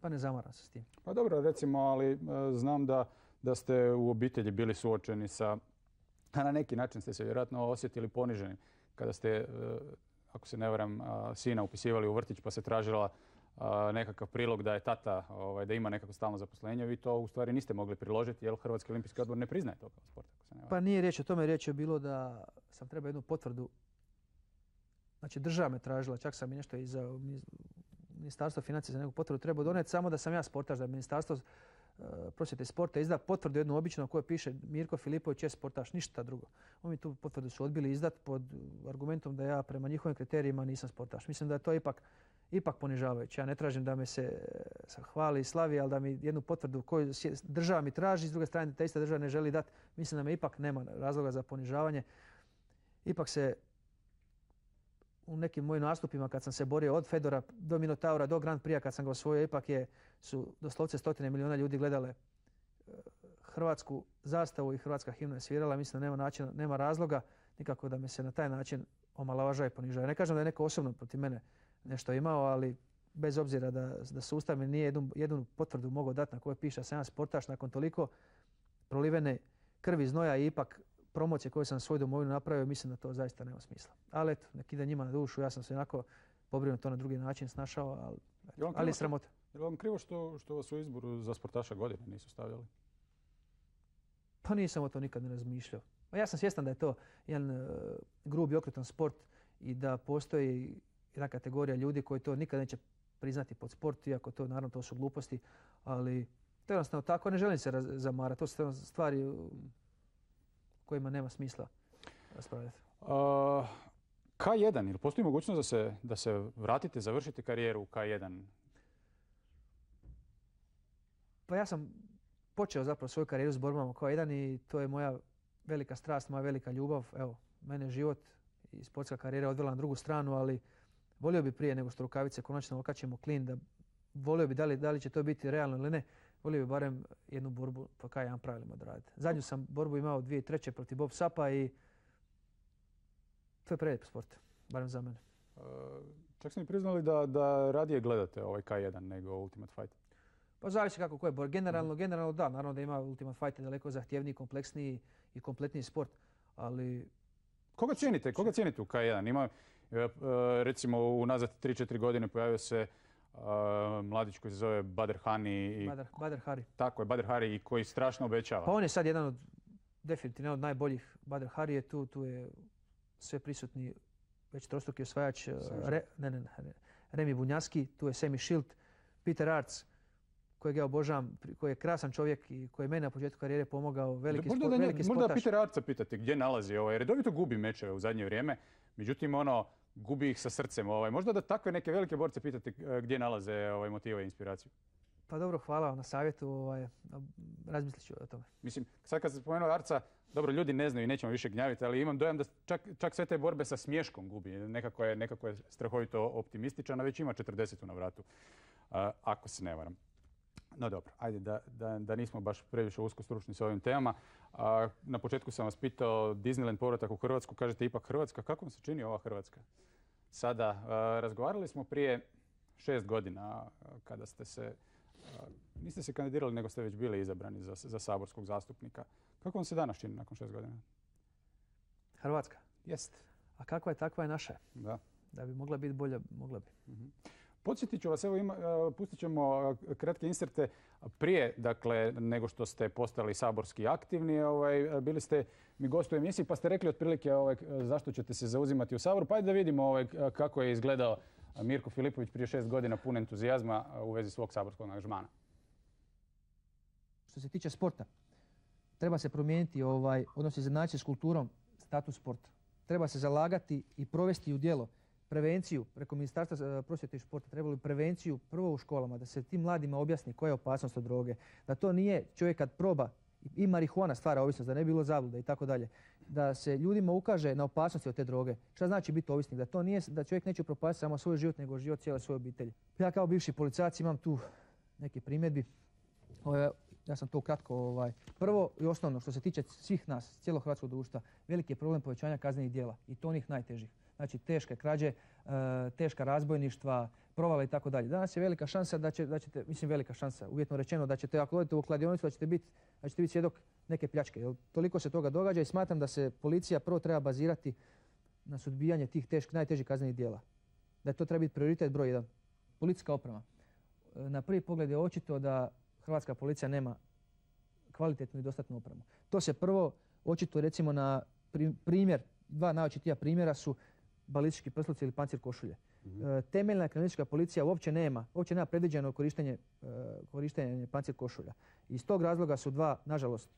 Pa ne zamaram se s tim. Pa dobro, recimo, ali znam da, da ste u obitelji bili suočeni sa, a na neki način ste se vjerojatno osjetili poniženi kada ste, ako se ne varam, sina upisivali u vrtić pa se tražila nekakav prilog da je tata, ovaj, da ima nekako stalno zaposlenje. Vi to u stvari niste mogli priložiti jer Hrvatski olimpijski odbor ne priznaje to kao sport. Ako se ne varam. Pa nije riječ o tome, riječ je bilo da sam trebao jednu potvrdu. Znači država me tražila, čak sam i nešto i za Ministarstvo financija za neku potvrdu trebao doneti, samo da sam ja sportaš, da je Ministarstvo prosvjete i sporta izda potvrdu jednu običnu koju piše Mirko Filipović je sportaš, ništa drugo. Oni tu potvrdu su odbili izdat pod argumentom da ja prema njihovim kriterijima nisam sportaš. Mislim da je to ipak, ipak ponižavajuće. Ja ne tražim da me se hvali i slavi, ali da mi jednu potvrdu koju država mi traži, s druge strane ta ista država ne želi dati, mislim da me ipak nema razloga za ponižavanje. Ipak se u nekim mojim nastupima kad sam se borio od Fedora do Minotaura do Grand Prix kad sam ga osvojio, ipak je, su doslovce stotine milijuna ljudi gledale hrvatsku zastavu i hrvatska himna je svirala. Mislim da nema, načina, nema razloga nikako da me se na taj način omalovažava i ponižava. Ne kažem da je neko osobno protiv mene nešto imao, ali bez obzira da, da sustav mi nije jednu, jednu potvrdu mogao dati na kojoj piše da sam ja sportaš nakon toliko prolivene krvi, znoja i ipak promocije koje sam svoju domovinu napravio, mislim da to zaista nema smisla. Ali eto, nek ide njima na dušu, ja sam se onako pobrinuo to na drugi način snašao, ali, eto, ali je sramota. Je li vam krivo što, što vas u izboru za sportaša godine nisu stavljali? Pa nisam o to nikad ne razmišljao. Ja sam svjestan da je to jedan uh, grub i okrutan sport i da postoji jedna kategorija ljudi koji to nikad neće priznati pod sport, iako to naravno to su gluposti, ali to je jednostavno tako, ne želim se zamarati. To su stvari uh, kojima nema smisla raspravljati. Uh, K jedan, ili postoji mogućnost da se, da se vratite, završite karijeru u K jedan? Pa ja sam počeo zapravo svoju karijeru s borbama u K jedan i to je moja velika strast, moja velika ljubav. Evo, mene život i sportska karijera odvela na drugu stranu, ali volio bi prije nego što rukavice konačno okačimo klin, da volio bi da li, da li će to biti realno ili ne, volio bi barem jednu borbu po K jedan pravilima odraditi. Zadnju sam borbu imao dvije tisuće treće protiv Bob Sapa i to je prelijep sport, barem za mene. Uh, čak ste mi priznali da, da radije gledate ovaj K jedan nego Ultimate Fight. Pa zavisi kako ko je bor. Generalno, generalno da, naravno da ima Ultimate Fight daleko zahtjevniji, kompleksniji i kompletniji sport, ali... Koga cijenite? Koga cijenite u K jedan? Ima, recimo, unazad tri četiri godine pojavio se uh, mladić koji se zove Badr Hani. I... Badr, Badr Hari. Tako je, Badr Hari i koji strašno obećava. Pa on je sad jedan od, definitivno, od najboljih. Badr Hari je tu, tu je sve prisutni, već trostruki osvajač, Re, ne, ne, ne, Remi Bunjaski, tu je Semi Shield, Peter Arts, kojeg ja obožavam, koji je krasan čovjek i koji je meni na početku karijere pomogao, veliki, možda sport, da, veliki možda sportaš. Možda Peter Arca pitate gdje nalazi, ovaj, redovito gubi mečeve u zadnje vrijeme, međutim ono, gubi ih sa srcem. Ovaj. Možda da takve neke velike borce pitate gdje nalaze ovaj, motive i inspiraciju. Pa dobro, hvala vam na savjetu, ovaj, razmislit ću o tome. Mislim, sad kad ste spomenuli Arca, dobro, ljudi ne znaju i nećemo više gnjaviti, ali imam dojam da čak, čak sve te borbe sa smješkom gubi. Nekako je, nekako je strahovito optimističan, a već ima četrdeset na vratu, uh, ako se ne varam. No dobro, ajde da, da, da nismo baš previše usko stručni s ovim temama. A, na početku sam vas pitao Disneyland povratak u Hrvatsku, kažete ipak Hrvatska. Kako vam se čini ova Hrvatska? Sada, a, razgovarali smo prije šest godina kada ste se, a, niste se kandidirali nego ste već bili izabrani za, za saborskog zastupnika. Kako vam se danas čini nakon šest godina? Hrvatska? Jest. A kakva je, takva je naša. Da. Da bi mogla biti bolja, mogla bi. Mm-hmm. Podsjetit ću vas, evo ima, pustit ćemo kratke inserte prije, dakle, nego što ste postali saborski aktivni. Ovaj, bili ste mi gost u emisiji pa ste rekli otprilike ovaj, zašto ćete se zauzimati u Saboru. Pa ajde da vidimo ovaj, kako je izgledao Mirko Filipović prije šest godina pun entuzijazma u vezi svog saborskog angažmana. Što se tiče sporta, treba se promijeniti ovaj, odnos izjednačiti s kulturom, status sporta. Treba se zalagati i provesti u djelo prevenciju preko Ministarstva prosvjete i športa. Trebali prevenciju prvo u školama, da se tim mladima objasni koja je opasnost od droge. Da to nije čovjek kad proba i marihuana stvara ovisnost, da ne bi bilo zabluda i tako dalje. Da se ljudima ukaže na opasnosti od te droge. Šta znači biti ovisnik? Da to nije, da čovjek neće propasti samo svoj život, nego život cijele svoje obitelji. Ja kao bivši policajac imam tu neke primjedbi. Ja sam to ukratko. Ovaj. Prvo i osnovno, što se tiče svih nas, cijelog hrvatskog društva, veliki je problem povećanja kaznenih djela i to onih najtežih. Znači teške krađe, teška razbojništva, provale i tako dalje. Danas je velika šansa da, će, da ćete, mislim velika šansa, uvjetno rečeno, da ćete, ako odete u kladionicu, da ćete biti da ćete biti svjedok neke pljačke. Jer toliko se toga događa i smatram da se policija prvo treba bazirati na suzbijanje tih teških, najtežih kaznenih djela. Da to treba biti prioritet broj jedan. Policijska oprema. Na prvi pogled je očito da hrvatska policija nema kvalitetnu i dostatnu opremu. To se prvo očito recimo na primjer, dva najočitija primjera su balistički prsluci ili pancir košulje. Mm-hmm. Temeljna kriminalistička policija uopće nema, uopće nema predviđeno korištenje, korištenje pancir košulja. Iz tog razloga su dva, nažalost,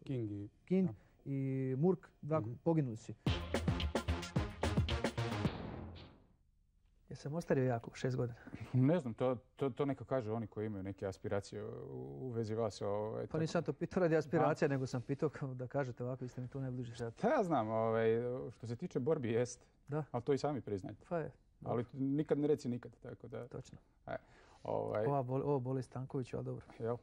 King i, King i Murk, dva mm-hmm. poginuli su. Jesam ostario jako, šest godina. Ne znam, to, to, to neka kaže oni koji imaju neke aspiracije u vezi vas. Ovaj, pa nisam to pitao radi aspiracija, nego sam pitao da kažete ovako, vi ste mi tu najbliži sad. Ja znam, ovaj, što se tiče borbi jest, da. Ali to i sami priznajte. Pa je. Ali nikad ne reci nikad. Tako da, točno. E, ovaj, Ova boli, ovo boli Stanković, ali dobro. Jel?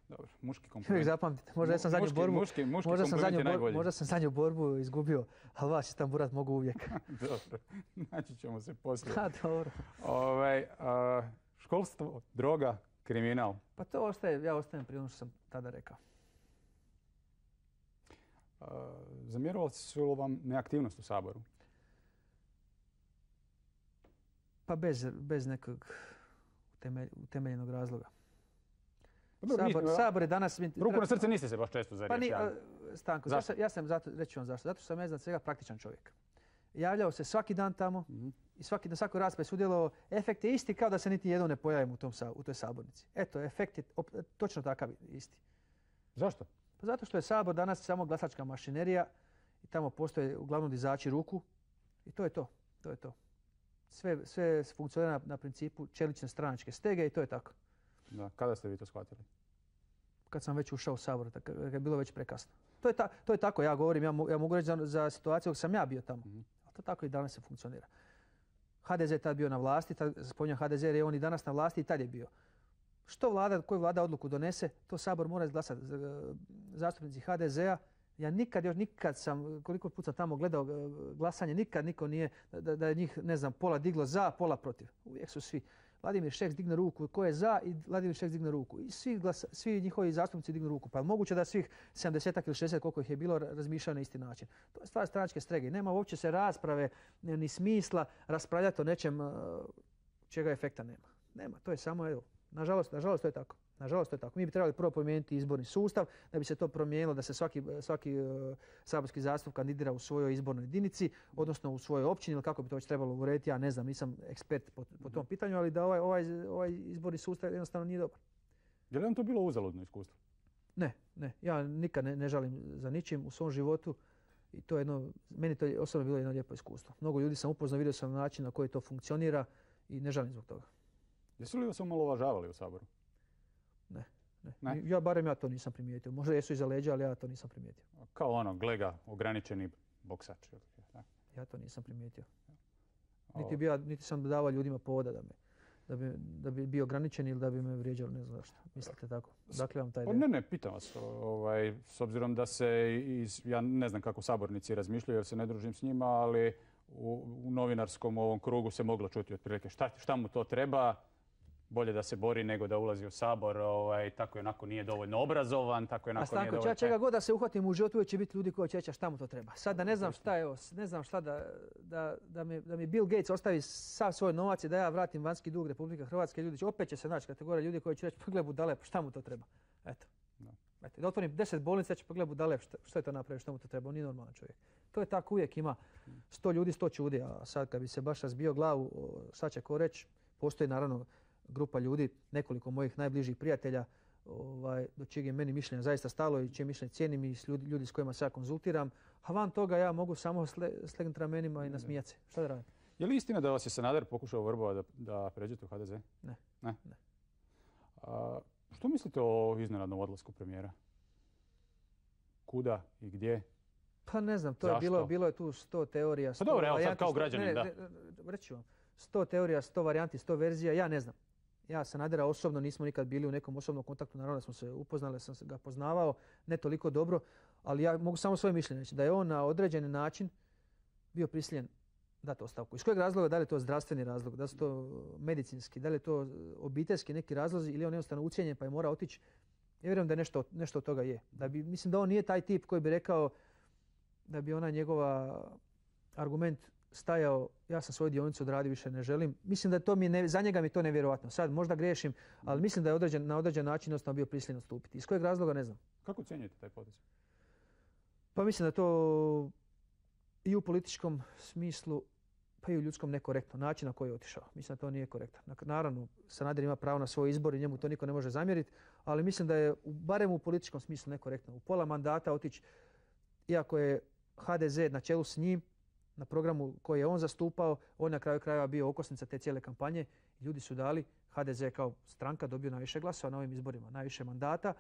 Dobro, muški kompliment. Zapamtite, možda ja sam zadnju borbu, muški, muški možda, sam zadnju borbu možda sam zadnju borbu izgubio, ali vas Istanburat mogu uvijek. Dobro, naći ćemo se poslije. Ha, dobro. Ovaj, a, školstvo, droga, kriminal. Pa to ostaje, ja ostajem pri ono što sam tada rekao. A, zamjerovali su vam neaktivnost u Saboru? Pa bez, bez nekog utemelj, utemeljenog razloga. Dobro, Sabor, mi, Sabor je danas... Ruku na srce niste se baš često za riječ javili. Pa ni, Stanko, zašto? Ja sam zato, reći vam zašto. Zato što sam ja iznad svega praktičan čovjek. Javljao se svaki dan tamo mm-hmm. i svaki, na svakoj raspravi sudjelovao. Efekt je isti kao da se niti jednom ne pojavim u, tom, u toj sabornici. Eto, efekt je op, točno takav isti. Zašto? Pa zato što je Sabor danas samo glasačka mašinerija i tamo postoje uglavnom dizači ruku i to je to. To je to. Sve, sve funkcionira na, na principu čelične stranačke stege i to je tako. Da, kada ste vi to shvatili? Kad sam već ušao u Sabor, kad je bilo već prekasno. To je, ta, to je tako, ja govorim, ja, mo, ja mogu reći za, za situaciju dok sam ja bio tamo. Mm-hmm. A to tako i danas se funkcionira. ha de ze je tad bio na vlasti, spominjam ha de ze jer je on i danas na vlasti i tad je bio. Što vlada, koju vlada odluku donese, to Sabor mora izglasati. Zastupnici ha de zea, ja nikad, još nikad sam, koliko puta sam tamo gledao glasanje, nikad niko nije, da, da je njih, ne znam, pola diglo za, pola protiv. Uvijek su svi. Vladimir Šeks digne ruku, ko je za i Vladimir Šeks digne ruku. I svi, glasa, svi njihovi zastupnici dignu ruku. Pa je moguće da svih sedamdeset ili šezdeset koliko ih je bilo razmišljaju na isti način. To je stvar stranačke strege. Nema uopće se rasprave ni smisla raspravljati o nečem čega efekta nema. Nema, to je samo, evo, nažalost, nažalost to je tako. Nažalost, to je tako. Mi bi trebali prvo promijeniti izborni sustav, da bi se to promijenilo, da se svaki, svaki uh, saborski zastupnik kandidira u svojoj izbornoj jedinici, odnosno u svojoj općini, ili kako bi to već trebalo urediti, ja ne znam, nisam ekspert po, po tom pitanju, ali da ovaj, ovaj, ovaj izborni sustav jednostavno nije dobar. Je li vam to bilo uzaludno iskustvo? Ne, ne. Ja nikad ne, ne žalim za ničim u svom životu i to je jedno, meni to je osobno bilo jedno lijepo iskustvo. Mnogo ljudi sam upoznao, vidio sam način na koji to funkcionira i ne žalim zbog toga. Jesu li vas omalovažavali u Saboru? Ne, ne, ne. Ja barem ja to nisam primijetio. Možda jesu iza leđa, ali ja to nisam primijetio. Kao ono, glega, ograničeni boksač. Ja to nisam primijetio. Niti, bi ja, niti sam davao ljudima povoda da, me, da, bi, da bi bio ograničen ili da bi me vrijeđali, ne znam zašto. Mislite tako? Dakle vam taj ideja. Ne, ne, pitam vas. Ovaj, s obzirom da se, iz, ja ne znam kako sabornici razmišljaju jer se ne družim s njima, ali u, u novinarskom ovom krugu se moglo čuti otprilike šta, šta mu to treba. bolje da se bori nego da ulazi u Sabor, ovaj, tako i onako nije dovoljno obrazovan, tako i A onako nije Stanko, dovoljno... ja čega god da se uhvatim u životu, uvijek će biti ljudi koji će reći šta mu to treba. Sad da ne znam šta, evo, ne znam šta da, da, da, mi, da mi Bill Gates ostavi sav svoj novac i da ja vratim vanjski dug Republike Hrvatske, ljudi će, opet će se naći kategorija ljudi koji će reći pogled budale, pa šta mu to treba. Eto. Da. Eto, da otvorim deset bolnica, će pogled budale, šta, šta je to napravio, šta mu to treba, on nije normalan čovjek. To je tako, uvijek ima sto ljudi, sto čudi, a sad kad bi se baš razbio glavu, šta će ko reći, postoji naravno grupa ljudi, nekoliko mojih najbližih prijatelja, ovaj, do čijeg je meni mišljenja zaista stalo i čije mišljenje cijenim i ljudi, ljudi s kojima se ja konzultiram. A van toga ja mogu samo sle, slegnuti ramenima i nasmijati se. Šta da radim? Je li istina da vas je Sanader pokušao vrbovati da, da pređete u H D Z? Ne. Ne? Ne. A, što mislite o iznenadnom odlasku premijera? Kuda i gdje? Pa ne znam, to Zašto? je bilo, bilo je tu sto teorija. sto Pa dobro, evo sad varijanti, kao sto- građanin, ne, da. ne, ne, reći ću vam. sto teorija, sto varijanti, sto verzija, ja ne znam. Ja Sanadera osobno nismo nikad bili u nekom osobnom kontaktu, naravno da smo se upoznali, sam ga poznavao, ne toliko dobro, ali ja mogu samo svoje mišljenje reći da je on na određeni način bio prisiljen dati ostavku. Iz kojeg razloga, da li je to zdravstveni razlog, da li su to medicinski, da li je to obiteljski neki razlozi ili on jednostavno ucijenjen pa je mora otići. Ja vjerujem da je nešto, nešto od toga je. Da bi, mislim da on nije taj tip koji bi rekao da bi ona njegova argument stajao, ja sam svoju dionicu odradio, više ne želim. Mislim da to mi je ne, za njega mi je to nevjerojatno. Sad možda griješim, ali mislim da je određen, na određen način jednostavno bio prisiljen odstupiti. Iz kojeg razloga ne znam. Kako ocjenjujete taj potez? Pa mislim da je to i u političkom smislu, pa i u ljudskom nekorektno. Način na koji je otišao. Mislim da to nije korektno. Naravno, Sanader ima pravo na svoj izbor i njemu to niko ne može zamjeriti, ali mislim da je barem u političkom smislu nekorektno. U pola mandata otići, iako je H D Z na čelu s njim, na programu koji je on zastupao, on na kraju krajeva bio okosnica te cijele kampanje. Ljudi su dali, H D Z kao stranka dobio najviše glasova na ovim izborima, najviše mandata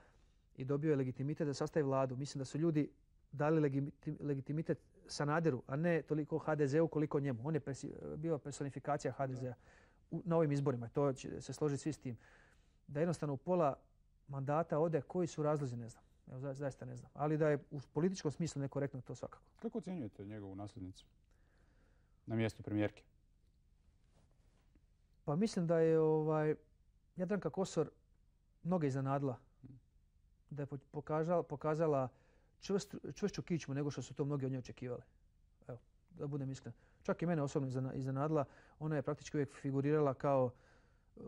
i dobio je legitimitet da sastavi vladu. Mislim da su ljudi dali legiti- legitimitet Sanaderu, a ne toliko H D Z-u koliko njemu. On je presi- bio personifikacija H D Z-a u- na ovim izborima. To će se složiti svi s tim. Da jednostavno u pola mandata ode, koji su razlozi, ne znam. Evo, za- zaista ne znam. Ali da je u političkom smislu nekorektno, to svakako. Kako ocjenjujete njegovu nasljednicu na mjestu premijerke? Pa mislim da je ovaj, Jadranka Kosor mnoge iznenadila. Da je po- pokazala, pokazala čvrst, čvršću kičmu nego što su to mnogi od nje očekivali. Evo, da budem iskren. Čak i mene osobno iznena- iznenadila. Ona je praktički uvijek figurirala kao uh,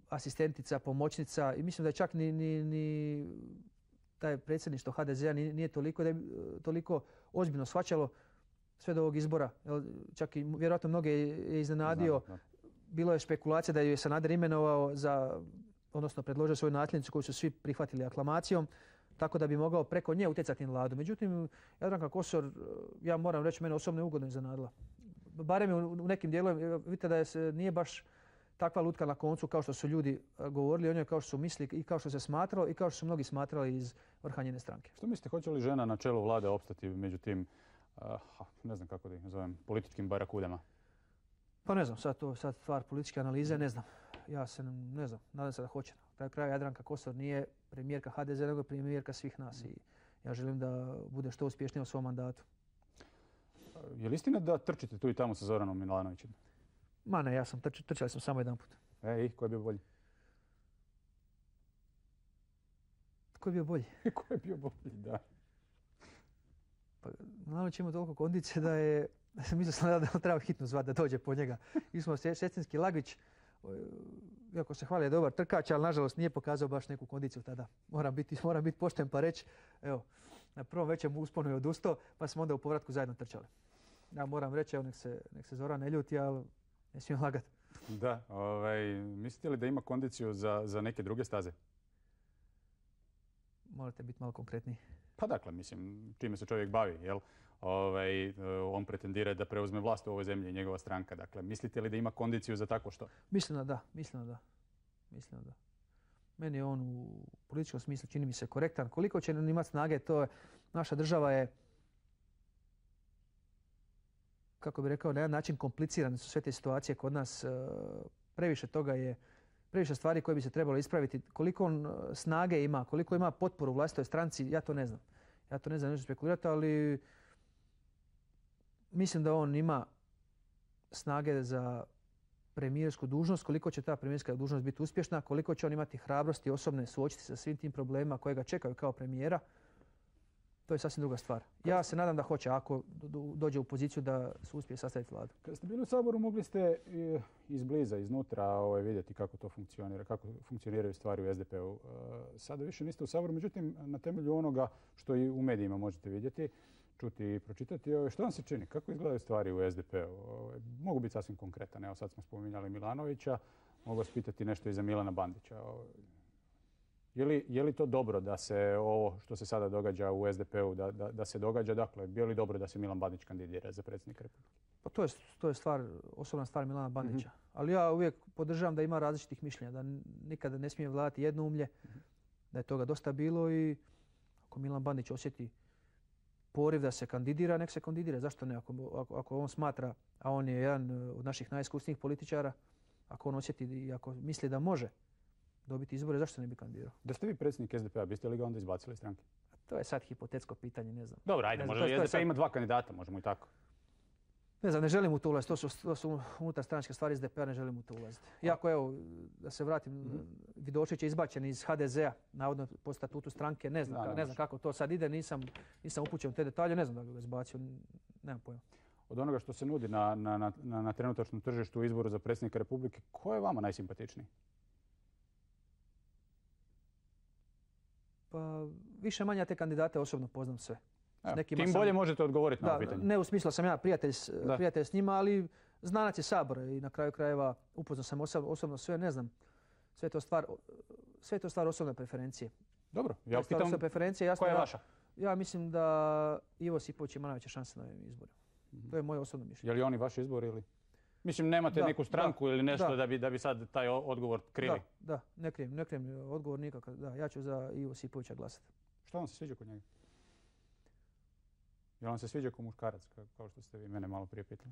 asistentica, pomoćnica i mislim da je čak ni, ni, ni taj predsjedništvo H D Z-a nije, nije toliko, da je, uh, toliko ozbiljno shvaćalo sve do ovog izbora. Jel, čak i vjerojatno mnoge je iznenadio. Znam, da. Bilo je špekulacija da ju je Sanader imenovao za, odnosno predložio svoju nasljednicu koju su svi prihvatili aklamacijom, tako da bi mogao preko nje utjecati na vladu. Međutim, Jadranka Kosor, ja moram reći, mene osobno je ugodno iznenadila. Barem je u u nekim dijelovima, vidite da je se, nije baš takva lutka na koncu kao što su ljudi eh, govorili o njoj, kao što su mislili i kao što se smatralo i kao što su mnogi smatrali iz vrha njene stranke. Što mislite, hoće li žena na čelu vlade opstati među tim, uh, ne znam kako da ih nazovem, političkim barakudama? Pa ne znam, sad to sad stvar političke analize, ne znam. Ja se ne znam, nadam se da hoće. Na kraju kraja Jadranka Kosor nije premijerka H D Z, nego premijerka svih nas i ja želim da bude što uspješnija u svom mandatu. Je li istina da trčite tu i tamo sa Zoranom Milanovićem? Ma ne, ja sam trč, trčali smo samo jedan put. E, i ko je bio bolji? Tko je bio bolji? Ko je bio bolji, da. Pa, Milanović ima toliko kondicije da je, mislio sam da da treba hitno zvati da dođe po njega. Mi smo Šestinski Lagić, iako se hvali je dobar trkač, ali nažalost nije pokazao baš neku kondiciju tada. Moram biti, moram biti pošten pa reći, evo, na prvom većem usponu je odustao, pa smo onda u povratku zajedno trčali. Ja moram reći, evo, nek se, nek se Zoran ne ljuti, ali ne smijem lagati. Da, ovaj, mislite li da ima kondiciju za, za neke druge staze? Morate biti malo konkretniji. Pa dakle, mislim, čime se čovjek bavi, jel? Ovaj, on pretendira da preuzme vlast u ovoj zemlji i njegova stranka. Dakle, mislite li da ima kondiciju za tako što? Mislim da da, mislim da da. Mislim da da. Meni je on u političkom smislu čini mi se korektan. Koliko će on imati snage, to je, naša država je, kako bih rekao, na jedan način komplicirane su sve te situacije kod nas. e, Previše toga je, previše stvari koje bi se trebalo ispraviti. Koliko on e, snage ima, koliko ima potporu u vlastitoj stranci, ja to ne znam. Ja to ne znam, neću spekulirati, ali mislim da on ima snage za premijersku dužnost, koliko će ta premijerska dužnost biti uspješna, koliko će on imati hrabrosti osobne suočiti se sa svim tim problemima koje ga čekaju kao premijera. To je sasvim druga stvar. Ja se nadam da hoće, ako dođe u poziciju da se uspije sastaviti vladu. Kad ste bili u Saboru, mogli ste izbliza, iznutra ovaj, vidjeti kako to funkcionira, kako funkcioniraju stvari u es de pe u. Sada više niste u Saboru, međutim, na temelju onoga što i u medijima možete vidjeti, čuti i pročitati, što vam se čini? Kako izgledaju stvari u es de pe u? Mogu biti sasvim konkretan. Evo, sad smo spominjali Milanovića, mogu vas pitati nešto i za Milana Bandića. Je li, je li to dobro da se ovo što se sada događa u es de pe u, da, da, da se događa? Dakle, je li dobro da se Milan Bandić kandidira za predsjednika Republike? Pa to je, to je stvar, osobna stvar Milana Bandića. Mm-hmm. Ali ja uvijek podržavam da ima različitih mišljenja, da nikada ne smije vladati jednoumlje, mm-hmm. da je toga dosta bilo i ako Milan Bandić osjeti poriv da se kandidira, nek se kandidira. Zašto ne? Ako, ako, ako on smatra, a on je jedan od naših najiskusnijih političara, ako on osjeti i ako misli da može dobiti izbore, zašto ne bi kandidirao? Da ste vi predsjednik es de pe a, biste li ga onda izbacili iz stranke? To je sad hipotetsko pitanje, ne znam. Dobro, ajde, može li es de pe sad ima dva kandidata, možemo i tako. Ne znam, ne želim u to ulaziti, to su, to su unutar stranačke stvari es de pe a, ne želim u to ulaziti. Iako, evo, da se vratim, mm-hmm. Vidošević je izbačen iz ha de ze a, navodno po statutu stranke, ne znam, da, ka, ne znam kako to sad ide, nisam, nisam upućen u te detalje, ne znam da bi ga izbacio, nemam pojma. Od onoga što se nudi na, na, na, na trenutačnom tržištu u izboru za predsjednika Republike, ko je vama najsimpatičniji? Pa više manje te kandidate osobno poznam sve. Evo, tim bolje sam, možete odgovoriti na ovo pitanje. Ne u smislu sam ja prijatelj, prijatelj s njima, ali znanac je Sabora i na kraju krajeva upoznao sam osobno, osobno sve, ne znam. Sve to stvar, sve to stvar osobne preferencije. Dobro, ja pitam koja je vaša? Ja mislim da Ivo Sipović ima najveće šanse na ovim izborima. Mm-hmm. To je moje osobno mišljenje. Je li oni vaš izbor ili? Mislim, nemate da, neku stranku da, ili nešto da. Da, bi, da bi sad taj odgovor krili? Da, da, ne krijem, ne krijem odgovor nikakav. Da, ja ću za Ivo Sipovića glasati. Što vam se sviđa kod njega? Je li vam se sviđa ko muškarac, kao što ste vi mene malo prije pitali?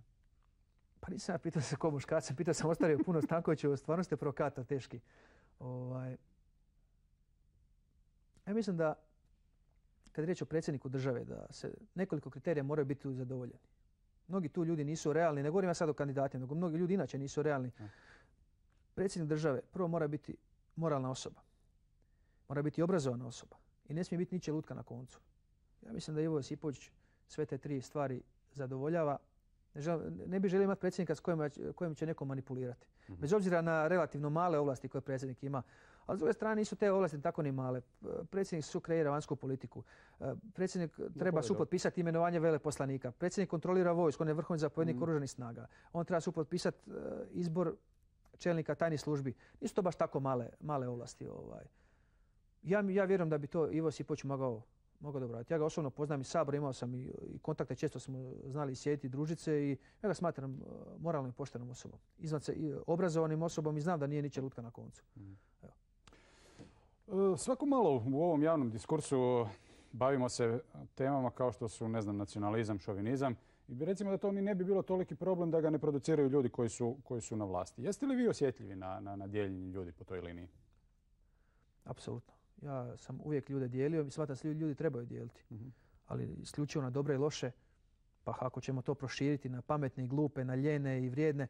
Pa nisam ja pitao se ko muškarac, pitao sam ostavio puno Stankovića, stvarno ste provokator teški. Ovaj... Ja mislim da, kad je riječ o predsjedniku države, da se nekoliko kriterija moraju biti zadovoljeni. Mnogi tu ljudi nisu realni, ne govorim ja sad o kandidatima, nego mnogi ljudi inače nisu realni. Predsjednik države prvo mora biti moralna osoba. Mora biti obrazovana osoba. I ne smije biti ničija lutka na koncu. Ja mislim da Ivo Josipović sve te tri stvari zadovoljava. Ne, žel, ne bi želio imati predsjednika s kojim, kojim će neko manipulirati. Mm-hmm. Bez obzira na relativno male ovlasti koje predsjednik ima. Ali s druge strane nisu te ovlasti tako ni male. Predsjednik su kreira vanjsku politiku. Predsjednik treba supotpisati imenovanje veleposlanika. Predsjednik kontrolira vojsku, on je vrhovni zapovjednik mm-hmm. oružanih snaga. On treba supotpisati izbor čelnika tajnih službi. Nisu to baš tako male, male ovlasti. Ovaj. Ja, ja vjerujem da bi to Ivo Josipović mogao Mogu dobro raditi. Ja ga osobno poznam iz Sabora, imao sam i, i kontakte, često smo znali sjediti, družice i ja ga smatram uh, moralnom i poštenom osobom. Izvan se i obrazovanim osobom i znam da nije ničija lutka na koncu. Mm. Evo. Svako malo u ovom javnom diskursu bavimo se temama kao što su, ne znam, nacionalizam, šovinizam. I recimo da to ni ne bi bilo toliki problem da ga ne produciraju ljudi koji su, koji su na vlasti. Jeste li vi osjetljivi na, na, na dijeljenje ljudi po toj liniji? Apsolutno. Ja sam uvijek ljude dijelio i smatram da se ljudi trebaju dijeliti. Mm-hmm. Ali isključivo na dobre i loše, pa ako ćemo to proširiti na pametne i glupe, na ljene i vrijedne,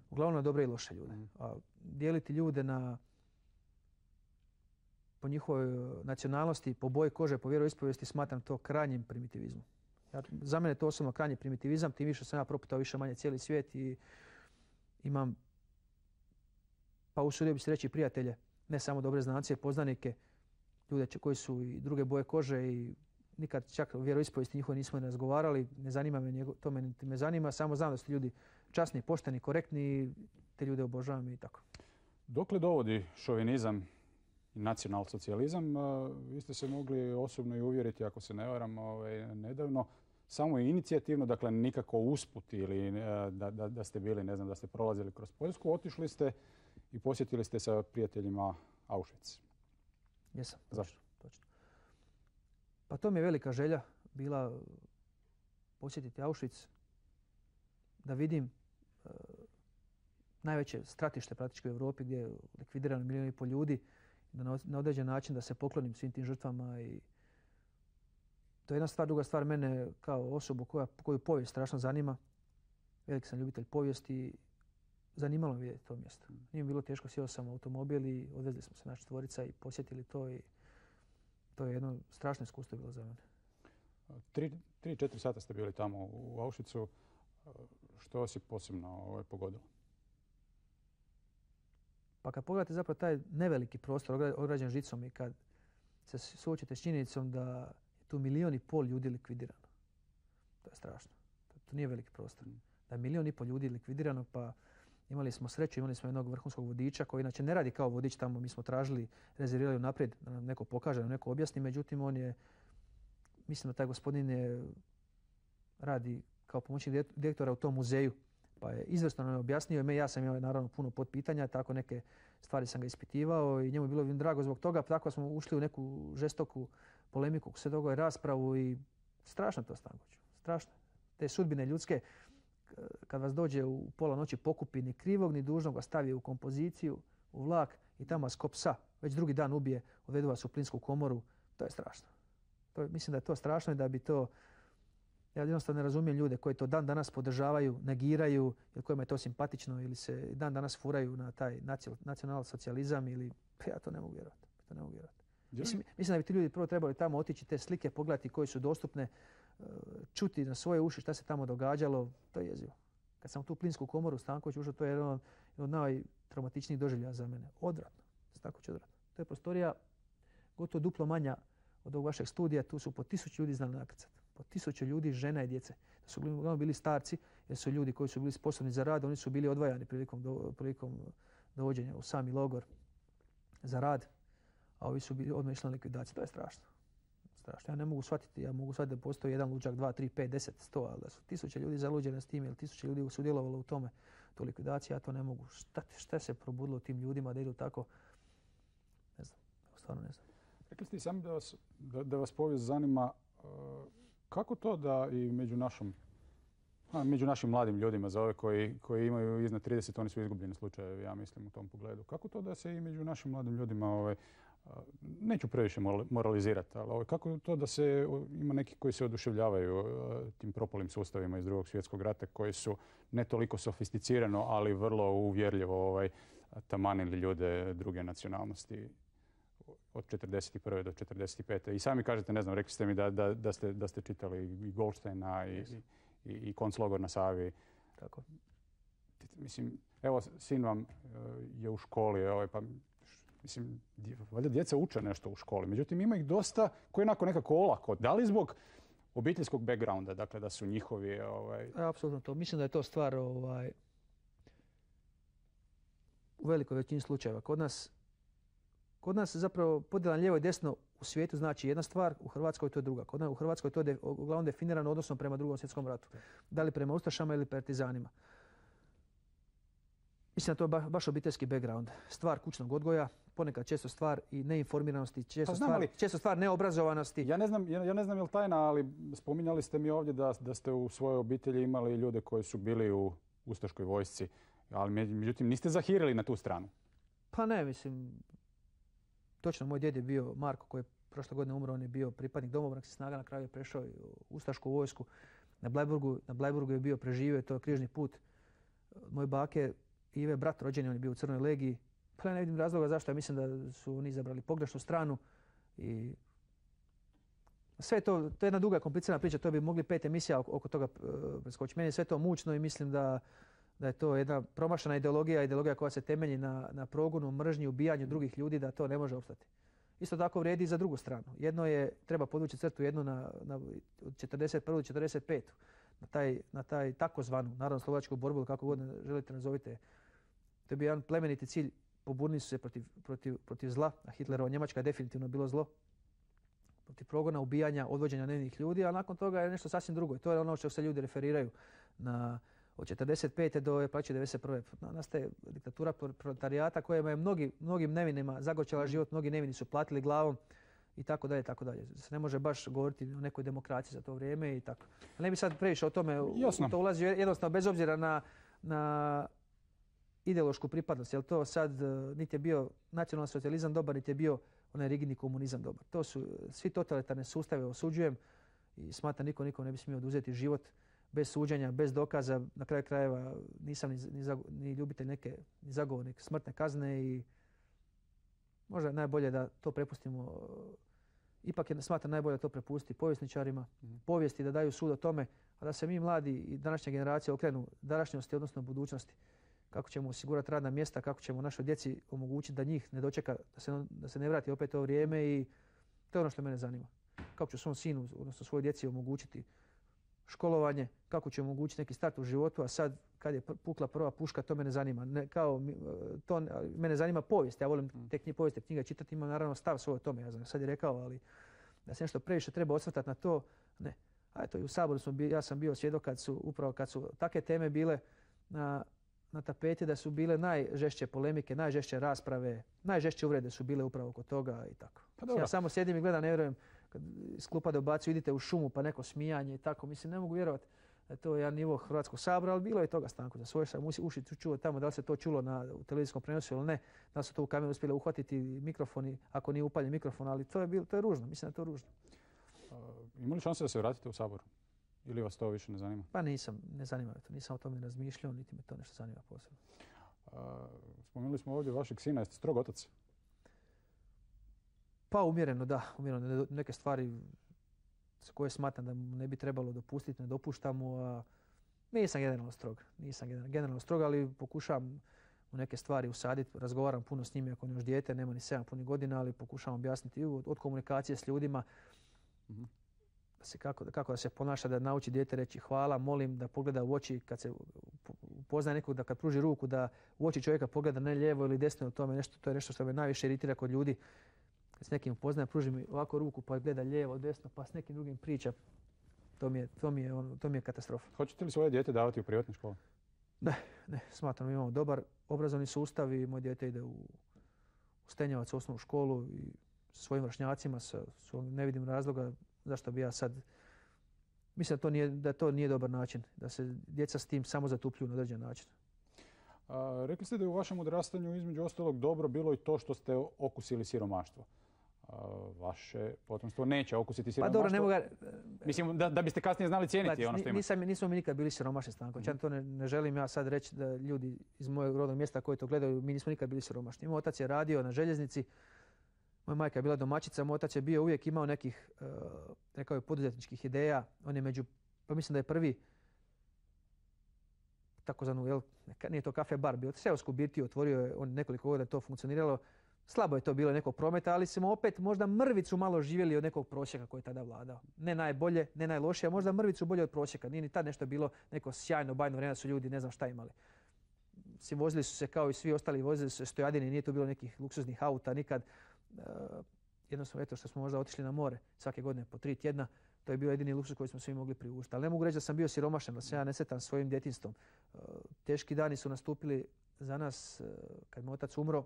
uglavnom na dobre i loše ljude. Mm-hmm. A dijeliti ljude na, po njihovoj nacionalnosti, po boji kože, po vjeroispovijesti, smatram to krajnjim primitivizmom. Ja, za mene je to osobno krajnji primitivizam, tim više sam ja proputao više manje cijeli svijet i imam, pa usudio bi se reći, prijatelje, ne samo dobre znance, poznanike, ljude koji su i druge boje kože i nikad čak o vjeroispovijesti njihove nismo ne razgovarali. Ne zanima me njego, to me niti me zanima. Samo znam da su ljudi časni, pošteni, korektni i te ljude obožavam i tako. Dokle dovodi šovinizam i nacionalsocijalizam? Vi ste se mogli osobno i uvjeriti, ako se ne varam, ovaj, nedavno. Samo inicijativno, dakle nikako usput ili da, da, da ste bili, ne znam, da ste prolazili kroz Poljsku, otišli ste i posjetili ste sa prijateljima Auschwitz. Jesam. Zašto? Točno. Pa to mi je velika želja bila posjetiti Auschwitz, da vidim uh, najveće stratište praktički u Europi gdje je likvidirano milijun i pol ljudi, da na, na određen način da se poklonim svim tim žrtvama. I to je jedna stvar. Druga stvar, mene kao osobu koja, koju povijest strašno zanima. Veliki sam ljubitelj povijesti zanimalo me vidjeti to mjesto. Nije mi bilo teško, sjeo sam u automobil i odvezli smo se naša četvorica i posjetili to i to je jedno strašno iskustvo bilo za mene. Tri, tri, četiri sata ste bili tamo u Auschwitzu. Što vas je posebno ovaj, pogodilo? Pa kad pogledate zapravo taj neveliki prostor ograđen žicom i kad se suočite s činjenicom da je tu milijon i pol ljudi likvidirano. To je strašno. To, to nije veliki prostor. Da je milijon i pol ljudi likvidirano, pa imali smo sreću, imali smo jednog vrhunskog vodiča koji inače ne radi kao vodič tamo. Mi smo tražili, rezervirali unaprijed da nam neko pokaže, da nam neko objasni. Međutim, on je, mislim da taj gospodin je, radi kao pomoćnik direktora u tom muzeju. Pa je izvrsno nam objasnio i ja sam imao naravno puno potpitanja, tako neke stvari sam ga ispitivao i njemu je bilo drago zbog toga. Tako smo ušli u neku žestoku polemiku, sve toga raspravu i strašno to Stankoviću. Strašno. Te sudbine ljudske, kad vas dođe u pola noći pokupi, ni krivog ni dužnog vas stavi u kompoziciju, u vlak i tamo vas ko psa već drugi dan ubije, odvedu vas u plinsku komoru, to je strašno. To je, mislim da je to strašno i da bi to... Ja jednostavno ne razumijem ljude koji to dan danas podržavaju, negiraju, ili kojima je to simpatično ili se dan danas furaju na taj nacional socijalizam ili... Ja to ne mogu vjerovati. To ne mogu vjerovati. Mislim, mislim da bi ti ljudi prvo trebali tamo otići, te slike pogledati koje su dostupne, čuti na svoje uši šta se tamo događalo. To je jezivo. Kad sam u tu plinsku komoru Stanković ušao, to je jedan od najtraumatičnijih doživljaja za mene. Odvratno. Stanković odvratno. To je prostorija gotovo duplo manja od ovog vašeg studija. Tu su po tisuću ljudi znali nakrcati. Po tisuću ljudi, žena i djece. To su uglavnom bili starci, jer su ljudi koji su bili sposobni za rad, oni su bili odvajani prilikom, do, prilikom dovođenja u sami logor za rad, a ovi su bili odmah išli na likvidaciju. To je strašno. strašno. Ja ne mogu shvatiti, ja mogu shvatiti da postoji jedan luđak, dva, tri, pet, deset, sto, ali da su tisuće ljudi zaluđene s tim ili tisuće ljudi sudjelovalo u tome, to likvidacija, ja to ne mogu. Šta, šta se probudilo tim ljudima da idu tako? Ne znam, stvarno ne znam. Rekli ste sami da vas, da, da vas povijest zanima. Kako to da i među, našom, a, među našim mladim ljudima, za ove koji, koji imaju iznad trideset, oni su izgubljeni slučajevi, ja mislim, u tom pogledu. Kako to da se i među našim mladim ljudima, ovaj, neću previše moralizirati, ali ovaj, kako to da se ima neki koji se oduševljavaju tim propalim sustavima iz Drugog svjetskog rata koji su ne toliko sofisticirano, ali vrlo uvjerljivo ovaj, tamanili ljude druge nacionalnosti od četrdeset prve do četrdeset pete I sami kažete, ne znam, rekli ste mi da, da, da, ste, da ste čitali i Goldsteina i, yes. i, i, i konclogor na Savi. Tako. Mislim, evo, sin vam je u školi, ovaj, pa mislim, valjda djeca uče nešto u školi. Međutim, ima ih dosta koji je onako nekako olako. Da li zbog obiteljskog backgrounda, dakle da su njihovi... Ovaj... Apsolutno to. Mislim da je to stvar ovaj, u velikoj većini slučajeva. Kod nas Kod nas zapravo podjela lijevo i desno u svijetu znači jedna stvar, u Hrvatskoj to je druga. Kod nas u Hrvatskoj to je de, uglavnom definirano odnosno prema Drugom svjetskom ratu. Da li prema ustašama ili partizanima. Mislim da to je ba, baš obiteljski background. Stvar kućnog odgoja, ponekad često stvar i neinformiranosti, često, pa stvar, često stvar neobrazovanosti. Ja ne znam, ja, ja ne znam je li tajna, ali spominjali ste mi ovdje da, da ste u svojoj obitelji imali ljude koji su bili u ustaškoj vojsci, ali međutim niste zahirili na tu stranu. Pa ne, mislim... Točno, moj djed je bio Marko koji je prošle godine umro, on je bio pripadnik domobranskih snaga, na kraju je prešao u ustašku vojsku. Na Blajburgu, na Blajburgu je bio preživio, to je križni put. Moj bake Ive, brat rođeni, on je bio u Crnoj legiji. Pa ja ne vidim razloga zašto, ja mislim da su oni izabrali pogrešnu stranu. I sve to, to je jedna duga, komplicirana priča, to bi mogli pet emisija oko toga preskočiti. Meni je sve to mučno i mislim da da je to jedna promašena ideologija, ideologija koja se temelji na, na progonu, mržnji, ubijanju drugih ljudi, da to ne može opstati. Isto tako vrijedi i za drugu stranu. Jedno je, treba podvući crtu jednu na, na od četrdeset prve do četrdeset pete Na taj, na taj takozvanu narodno-slobodačku borbu, ili kako god želite nazovite. To je bio jedan plemeniti cilj. Pobunili su se protiv, protiv, protiv zla, a Hitlerova Njemačka je definitivno bilo zlo. Protiv progona, ubijanja, odvođenja nevinih ljudi, a nakon toga je nešto sasvim drugo. I to je ono što se ljudi referiraju na od četrdeset pete do plaće devedeset prve nastaje diktatura proletarijata koja je mnogi, mnogim nevinima zagorčala život, mnogi nevini su platili glavom i tako dalje, tako dalje. Se ne može baš govoriti o nekoj demokraciji za to vrijeme i tako. Ne bi sad previše o tome, Jasno. To ulazi jednostavno bez obzira na, na ideološku pripadnost, jer to sad niti je bio nacionalni socijalizam dobar, niti je bio onaj rigidni komunizam dobar. To su svi totalitarne sustave, osuđujem i smatram niko nikom ne bi smio oduzeti život. bez suđenja, bez dokaza. Na kraju krajeva nisam ni, ni, zago, ni ljubitelj neke, ni zagovornik smrtne kazne i možda je najbolje da to prepustimo. Ipak je smatram najbolje to prepustiti povjesničarima, mm-hmm. povijesti da daju sud o tome, a da se mi mladi i današnja generacija okrenu današnjosti, odnosno budućnosti. Kako ćemo osigurati radna mjesta, kako ćemo našoj djeci omogućiti da njih ne dočeka, da se, da se ne vrati opet to vrijeme i to je ono što mene zanima. Kako ću svom sinu, odnosno svojoj djeci omogućiti školovanje, kako ću omogućiti neki start u životu, a sad kad je pukla prva puška, to mene zanima. Ne, kao, to, mene zanima povijest, ja volim te knjige, povijest, knjige čitati, imam naravno stav svoj o tome, ja sam sad je rekao, ali da se nešto previše treba osvrtati na to, ne. A eto, i u Saboru smo bili, ja sam bio svjedok kad su, upravo kad su takve teme bile na, na tapeti, da su bile najžešće polemike, najžešće rasprave, najžešće uvrede su bile upravo oko toga i tako. Pa ja samo sjedim i gledam, ne vjerujem, kad iz klupa dobacuju, idite u šumu pa neko smijanje i tako. Mislim, ne mogu vjerovati da je to jedan nivo Hrvatskog sabora, ali bilo je toga, Stanko. Za svoje sam uši čuo tamo, da li se to čulo na u televizijskom prenosu ili ne, da li su to u kameru uspjeli uhvatiti mikrofoni, ako nije upaljen mikrofon, ali to je, bilo, to je ružno, mislim da je to ružno. Uh, ima li šanse da se vratite u Sabor? Ili vas to više ne zanima? Pa nisam, ne zanima me to, nisam o tome razmišljao, niti me to nešto zanima posebno. Uh, spomenuli smo ovdje vašeg sina, jeste strog otac? Pa umjereno, da. Umjereno. Neke stvari za koje smatram da mu ne bi trebalo dopustiti, ne dopuštam mu. A nisam generalno strog. Nisam generalno strog, ali pokušavam u neke stvari usaditi. Razgovaram puno s njim, ako on još dijete, nema ni sedam punih godina, ali pokušavam objasniti od, od komunikacije s ljudima. Mm-hmm. Da se kako, kako da se ponaša, da nauči dijete reći hvala, molim, da pogleda u oči kad se upoznaje nekog, da kad pruži ruku, da u oči čovjeka pogleda ne lijevo ili desno, to, nešto, to je nešto što me najviše iritira kod ljudi. Kad s nekim upoznajem, pruži mi ovako ruku pa gleda lijevo, desno, pa s nekim drugim priča. To mi je, to mi je, on, to mi je katastrofa. Hoćete li svoje dijete davati u privatne škole? Ne, ne. Smatram da imamo dobar obrazovni sustav i moje dijete ide u, u Stenjevac, u osnovnu školu i sa svojim vršnjacima. Sa, sa, ne vidim razloga zašto bi ja sad... Mislim da to nije, da to nije dobar način, da se djeca s tim samo zatupljuju na određen način. A, rekli ste da je u vašem odrastanju između ostalog dobro bilo i to što ste okusili siromaštvo. A, vaše potomstvo neće okusiti siromaštvo. Pa dobro, ne mogu... Mislim da, da biste kasnije znali cijeniti Gledaj, ono što ima. Nisam, nismo mi nikad bili siromašni, Stanko. Mm-hmm. Ja to ne, ne želim ja sad reći da ljudi iz mojeg rodnog mjesta koji to gledaju, mi nismo nikad bili siromašni. Moj otac je radio na željeznici, moja majka je bila domaćica, moj otac je bio uvijek imao nekih, uh, rekao je, poduzetničkih ideja. On je među, pa mislim da je prvi takozvanu, jel, nije to kafe bar, bio seosku birtiju, otvorio je, on nekoliko godina to funkcioniralo. Slabo je to bilo nekog prometa, ali smo opet možda mrvicu malo živjeli od nekog prosjeka koji je tada vladao. Ne najbolje, ne najlošije, a možda mrvicu bolje od prosjeka. Nije ni tad nešto bilo neko sjajno, bajno vrijeme, su ljudi ne znam šta imali. Si vozili su se kao i svi ostali, vozili su se stojadini, nije tu bilo nekih luksuznih auta nikad. Uh, jednostavno, eto što smo možda otišli na more svake godine po tri tjedna, to je bio jedini luksus koji smo svi mogli priuštiti. Ali ne mogu reći da sam bio siromašan, da se ja nesretan svojim djetinjstvom. Uh, teški dani su nastupili za nas uh, kad moj otac umro.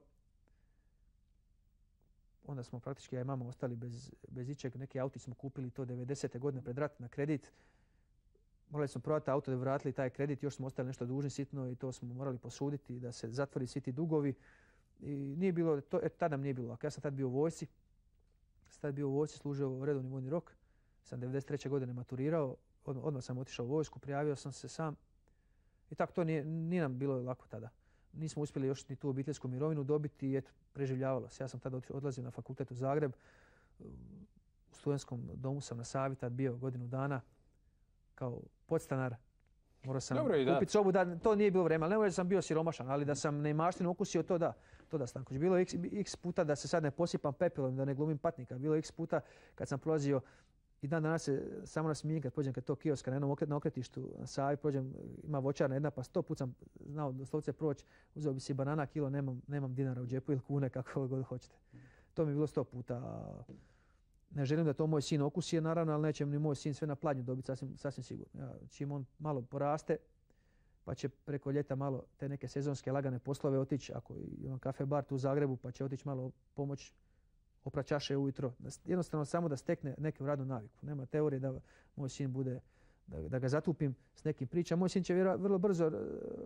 Onda smo praktički, ja i mama, ostali bez, bez ičeg. Neki auti smo kupili to devedesete godine pred rat na kredit. Morali smo prodati auto da bi vratili taj kredit, još smo ostali nešto dužni sitno i to smo morali posuditi da se zatvori svi ti dugovi. I nije bilo, to, et, tada nam nije bilo lako. Ja sam tad bio u vojsci. Sam tad bio u vojsci, služio redovni vojni rok. Sam devedeset treće godine maturirao. Od, odmah sam otišao u vojsku, prijavio sam se sam. I tako to nije, nije nam bilo lako tada. Nismo uspjeli još ni tu obiteljsku mirovinu dobiti i eto, preživljavalo se. Ja sam tada odlazio na fakultet u Zagreb. U studentskom domu sam na Savi tad bio godinu dana kao podstanar. Morao sam kupiti sobu, da to nije bilo vreme, ali ne možda sam bio siromašan, ali da sam neimaštinu okusio, to da. To da, Stanković. Bilo je x, x puta da se sad ne posipam pepelom, da ne glumim patnika. Bilo je x puta kad sam prolazio i dan danas se samo nasmijem kad pođem kad to kioska na jednom okret, na okretištu na Savi, prođem, ima voćarna jedna, pa sto put sam znao doslovce proći, uzeo bi si banana kilo, nemam, nemam dinara u džepu ili kune, kako god hoćete. To mi je bilo sto puta. Ne želim da to moj sin okusi, naravno, ali neće ni moj sin sve na pladnju dobiti, sasvim, sasvim sigurno. Ja, čim on malo poraste, pa će preko ljeta malo te neke sezonske lagane poslove otići, ako imam kafe bar tu u Zagrebu, pa će otići malo pomoć oprat čaše ujutro. Jednostavno samo da stekne neku radnu naviku. Nema teorije da moj sin bude, da, da ga zatupim s nekim pričama. Moj sin će vjera, vrlo brzo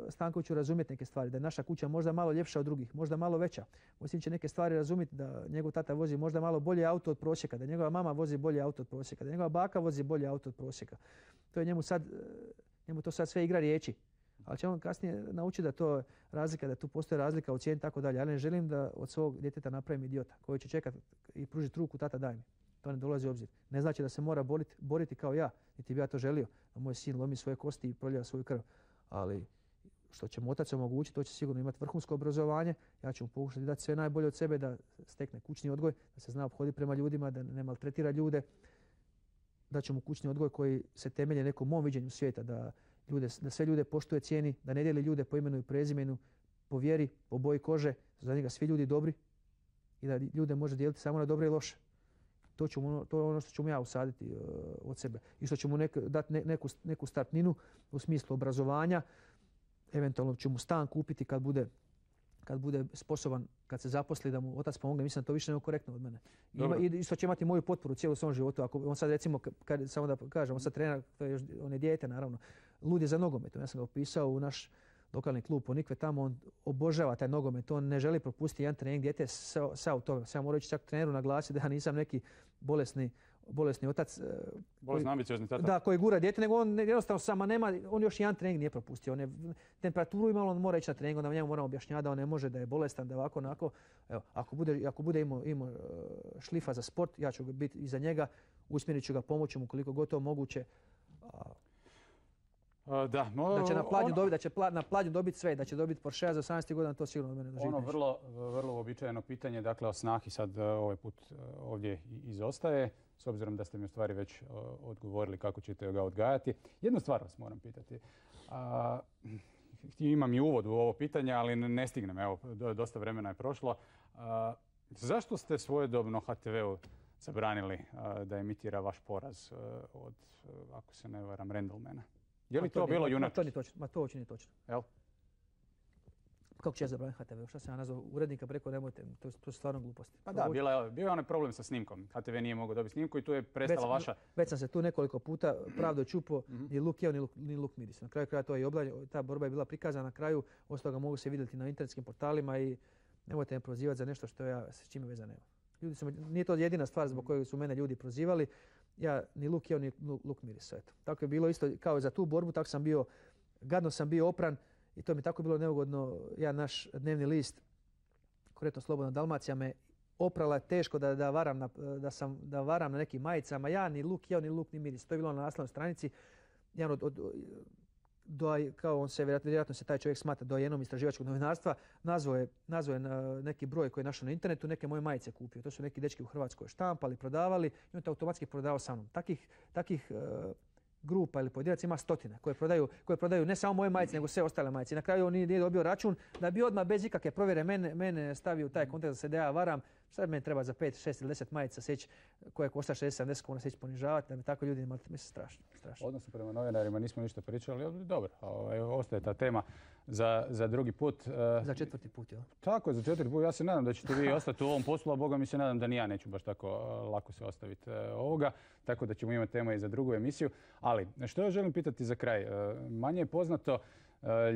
Stankoviću razumjeti neke stvari, da je naša kuća možda malo ljepša od drugih, možda malo veća. Moj sin će neke stvari razumjeti, da njegov tata vozi možda malo bolje auto od prosjeka, da njegova mama vozi bolje auto od prosjeka, da njegova baka vozi bolje auto od prosjeka. To je njemu sad Njemu to sad sve igra riječi. Ali će on kasnije naučiti da to razlika, da tu postoji razlika u cijeni i tako dalje. Ja ne želim da od svog djeteta napravim idiota koji će čekati i pružiti ruku, tata daj mi. To ne dolazi u obzir. Ne znači da se mora boriti, boriti kao ja, niti bi ja to želio. Da moj sin lomi svoje kosti i proljeva svoju krv. Ali što će mu otac omogućiti, to će sigurno imati vrhunsko obrazovanje. Ja ću mu pokušati dati sve najbolje od sebe, da stekne kućni odgoj, da se zna ophoditi prema ljudima, da ne maltretira ljude. Da ću mu kućni odgoj koji se temelje nekom mom viđenju svijeta, da, ljude, da sve ljude poštuje, cijeni, da ne dijeli ljude po imenu i prezimenu, po vjeri, po boji kože, za njega svi ljudi dobri i da ljude može dijeliti samo na dobre i loše. To, ću mu, to je ono što ću mu ja usaditi uh, od sebe. I što ću mu nek, dati ne, neku, neku startninu u smislu obrazovanja. Eventualno ću mu stan kupiti kad bude, kad bude sposoban, kad se zaposli, da mu otac pomogne. Mislim da to više nego korektno od mene. Ima, I isto će imati moju potporu cijelu svom životu. Ako on sad recimo, kad, samo da kažem, on sad trener, to je još, on je dijete naravno, lud je za nogometom. Ja sam ga upisao u naš lokalni klub Ponikve, tamo on obožava taj nogomet, on ne želi propustiti jedan trening, dijete sa u tome. Sad moram reći čak treneru naglasiti da ja nisam neki bolesni, bolesni otac. Bolesni ambiciozni tata. Da, koji gura dijete, nego on jednostavno sama nema, on još jedan trening nije propustio. On je temperaturu imalo, on mora ići na trening, onda njemu moramo objašnjavati da on ne može, da je bolestan, da ovako, onako. Evo, ako bude, ako bude imao, imao šlifa za sport, ja ću biti iza njega, usmjerit ću ga, pomoći mu koliko god to moguće. Uh, da, no, da će na pladnju ono, dobiti, da će pla, na pladnju dobiti sve, da će dobiti Porsche za osamnaest godina, to sigurno od mene doživiti. Ono vrlo, vrlo uobičajeno pitanje, dakle o snahi sad ovaj put ovdje izostaje, s obzirom da ste mi u stvari već uh, odgovorili kako ćete ga odgajati. Jednu stvar vas moram pitati. Uh, imam i uvod u ovo pitanje, ali ne stignem, evo, dosta vremena je prošlo. Uh, zašto ste svojedobno ha te veu zabranili uh, da emitira vaš poraz uh, od, uh, ako se ne varam, Randlemana? Je li to, to bilo junački? Ma to nije točno. Ma to uopće nije točno. Jel? Kako će ja zabraniti ha te ve? Šta sam ja nazvao urednika, preko nemojte, to, to su stvarno gluposti. Pa da, bila je, bio je onaj problem sa snimkom. ha te ve nije mogao dobiti snimku i tu je prestala već, vaša... Već sam se tu nekoliko puta pravdo čupo, mm-hmm. ni luk jeo, ni luk, ni luk miris. Na kraju kraja to je i oblavljeno, ta borba je bila prikazana na kraju, ostalo ga mogu se vidjeti na internetskim portalima i nemojte me prozivati za nešto što ja s čime veze nema. Ljudi su, nije to jedina stvar zbog koje su mene ljudi prozivali. Ja ni luk jeo, ni luk mirisao. Eto. Tako je bilo isto kao i za tu borbu, tako sam bio, gadno sam bio opran i to mi tako bilo neugodno. Ja naš dnevni list, konkretno Slobodna Dalmacija, me oprala teško da, da, varam na, da, sam, da varam na nekim majicama. Ja ni luk jeo, ni luk, ni miris. To je bilo na naslovnoj stranici. Jedan od, od, do, kao on se, vjerojatno se taj čovjek smatra dojenom istraživačkog novinarstva, nazvao je, nazvao je neki broj koji je našao na internetu, neke moje majice kupio. To su neki dečki u Hrvatskoj štampali, prodavali i on to automatski prodavao sa mnom. Takih, takih uh, grupa ili pojedinaca ima stotine koje prodaju, koje prodaju ne samo moje majice, nego sve ostale majice. Na kraju on nije dobio račun da bi odmah bez ikakve provjere mene, mene stavio u taj kontekst da se da ja varam. Sad meni treba za pet, šest ili deset majica seći koje košta šezdeset sedamdeset kuna seći ponižavati, da me tako ljudi imali. Mislim, strašno, strašno. Odnosno prema novinarima nismo ništa pričali, ali dobro, ovaj, ostaje ta tema za, za drugi put. Za četvrti put, jel? Tako je, za četvrti put. Ja se nadam da ćete vi ostati u ovom poslu, a Boga mi se nadam da ni ja neću baš tako lako se ostaviti ovoga, tako da ćemo imati tema i za drugu emisiju. Ali, što ja želim pitati za kraj? Manje je poznato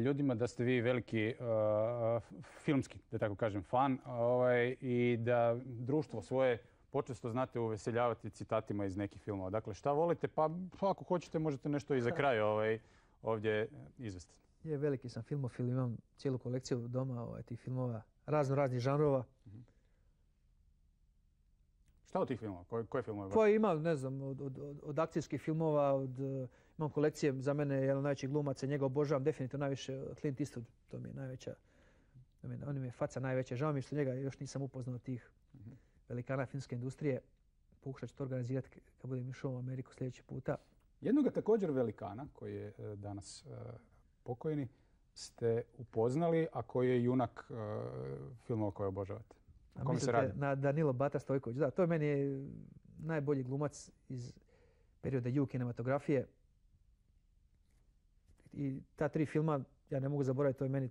ljudima da ste vi veliki uh, filmski, da tako kažem, fan ovaj, i da društvo svoje počesto znate uveseljavati citatima iz nekih filmova. Dakle, šta volite? Pa ako hoćete možete nešto i za kraj ovaj, ovdje izvesti. Je, veliki sam filmofil, imam cijelu kolekciju doma ovaj, tih filmova, razno raznih žanrova. Mm-hmm. Šta od tih filmova? Koje, koje filmove? Koje ima, ne znam, od, od, od, od akcijskih filmova, od, imam kolekcije, za mene je jedan od najvećih glumaca, njega obožavam definitivno najviše, Clint Eastwood, to mi je najveća, on mi je faca najveća. Žao mi je što njega još nisam upoznao tih mm-hmm. velikana filmske industrije. Pokušat ću to organizirati kad budem išao u Ameriku sljedeći puta. Jednoga također velikana, koji je danas uh, pokojni, ste upoznali, a koji je junak uh, filmova koje obožavate. A kome se radi? Na Danilo Bata Stojković. Da, to je meni najbolji glumac iz perioda ju kinematografije. I ta tri filma, ja ne mogu zaboraviti, to je meni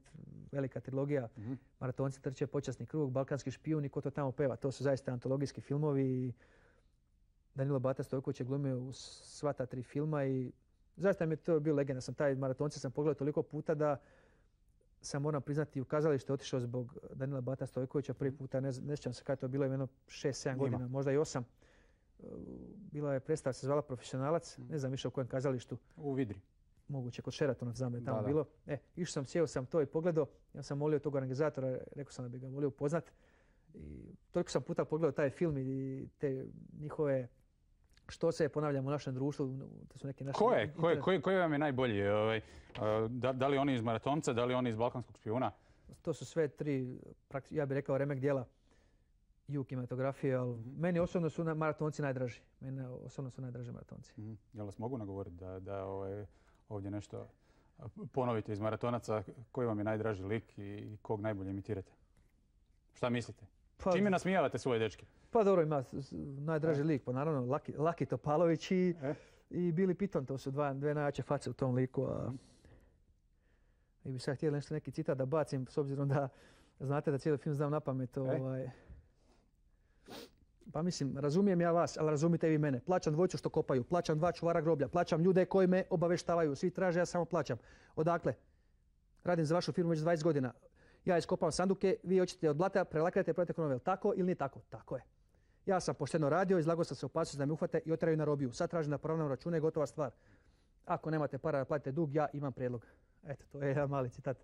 velika trilogija. Mm-hmm. Maratonci trče, Počasni krug, Balkanski špijun i Ko to tamo peva. To su zaista antologijski filmovi. Danilo Bata Stojković je glumio u sva ta tri filma i zaista mi je to bio legenda. Sam taj Maratonci sam pogledao toliko puta da sam, moram priznati, u kazalište otišao zbog Danila Bata Stojkovića prvi puta. Ne, ne sjećam se kada je to bilo, jedno šest sedam godina, možda i osam. Bila je predstava, se zvala Profesionalac, ne znam više u kojem kazalištu. U Vidri. moguće kod Sheratona, znam da je tamo Da, da. bilo. E, išao sam, sjeo sam to i pogledao. Ja sam molio tog organizatora, rekao sam da bi ga volio upoznat. I toliko sam puta pogledao taj film i te njihove što se ponavljamo u našem društvu. To su neke naše Ko je? Ko je? internet- Koji, koji vam je najbolji? Ovaj, a, da, da li oni iz Maratonca, da li oni iz Balkanskog špijuna? To su sve tri, prakti- ja bih rekao, remek dijela i u kinematografiji, ali Mhm. meni osobno su na- maratonci najdraži. Meni osobno su najdraži maratonci. Mhm. Jel vas mogu nagovoriti da, da ovaj, ovdje nešto ponovite iz Maratonaca? Koji vam je najdraži lik i kog najbolje imitirate? Šta mislite? Pa, Čime nasmijavate svoje dečke? pa dobro, ima s- s- najdraži lik, pa naravno Laki, Laki Topalović i, E? i Billy Piton, to su dva, dve najjače face u tom liku. A... I bi sad htjeli nešto neki citat da bacim, s obzirom da znate da cijeli film znam na pamet. Ovaj... Pa mislim, razumijem ja vas, ali razumite vi mene. Plaćam dvojicu što kopaju, plaćam dva čuvara groblja, plaćam ljude koji me obaveštavaju, svi traže, ja samo plaćam. Odakle? Radim za vašu firmu već dvadeset godina. Ja iskopam sanduke, vi hoćete od blata, prelakirate, prodate konovel. Tako ili nije tako? Tako je. Ja sam pošteno radio, izlagao sam se opasnosti da me uhvate i oteraju na robiju. Sad tražim da poravnam račune i gotova stvar. Ako nemate para da platite dug, ja imam prijedlog. Eto, to je jedan mali citat.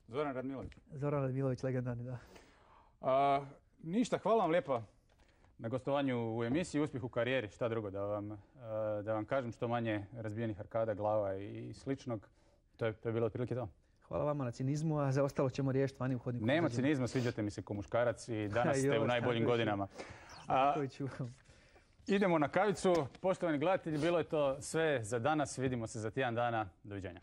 Zoran Radmilović. Zoran Radmilović, legendarni, da. A, ništa, hvala vam lijepa na gostovanju u emisiji. Uspjeh u karijeri, šta drugo da vam, a, da vam kažem, što manje razbijenih arkada, glava i sličnog. To je, to je bilo otprilike to. Hvala vama na cinizmu, a za ostalo ćemo riješiti vani u hodniku. Nema cinizma, sviđate mi se ko muškarac i danas ste Joj, u najboljim Stankoviću. godinama. A, Stankoviću. idemo na kavicu. Poštovani gledatelji, bilo je to sve za danas. Vidimo se za tjedan dana. Doviđenja.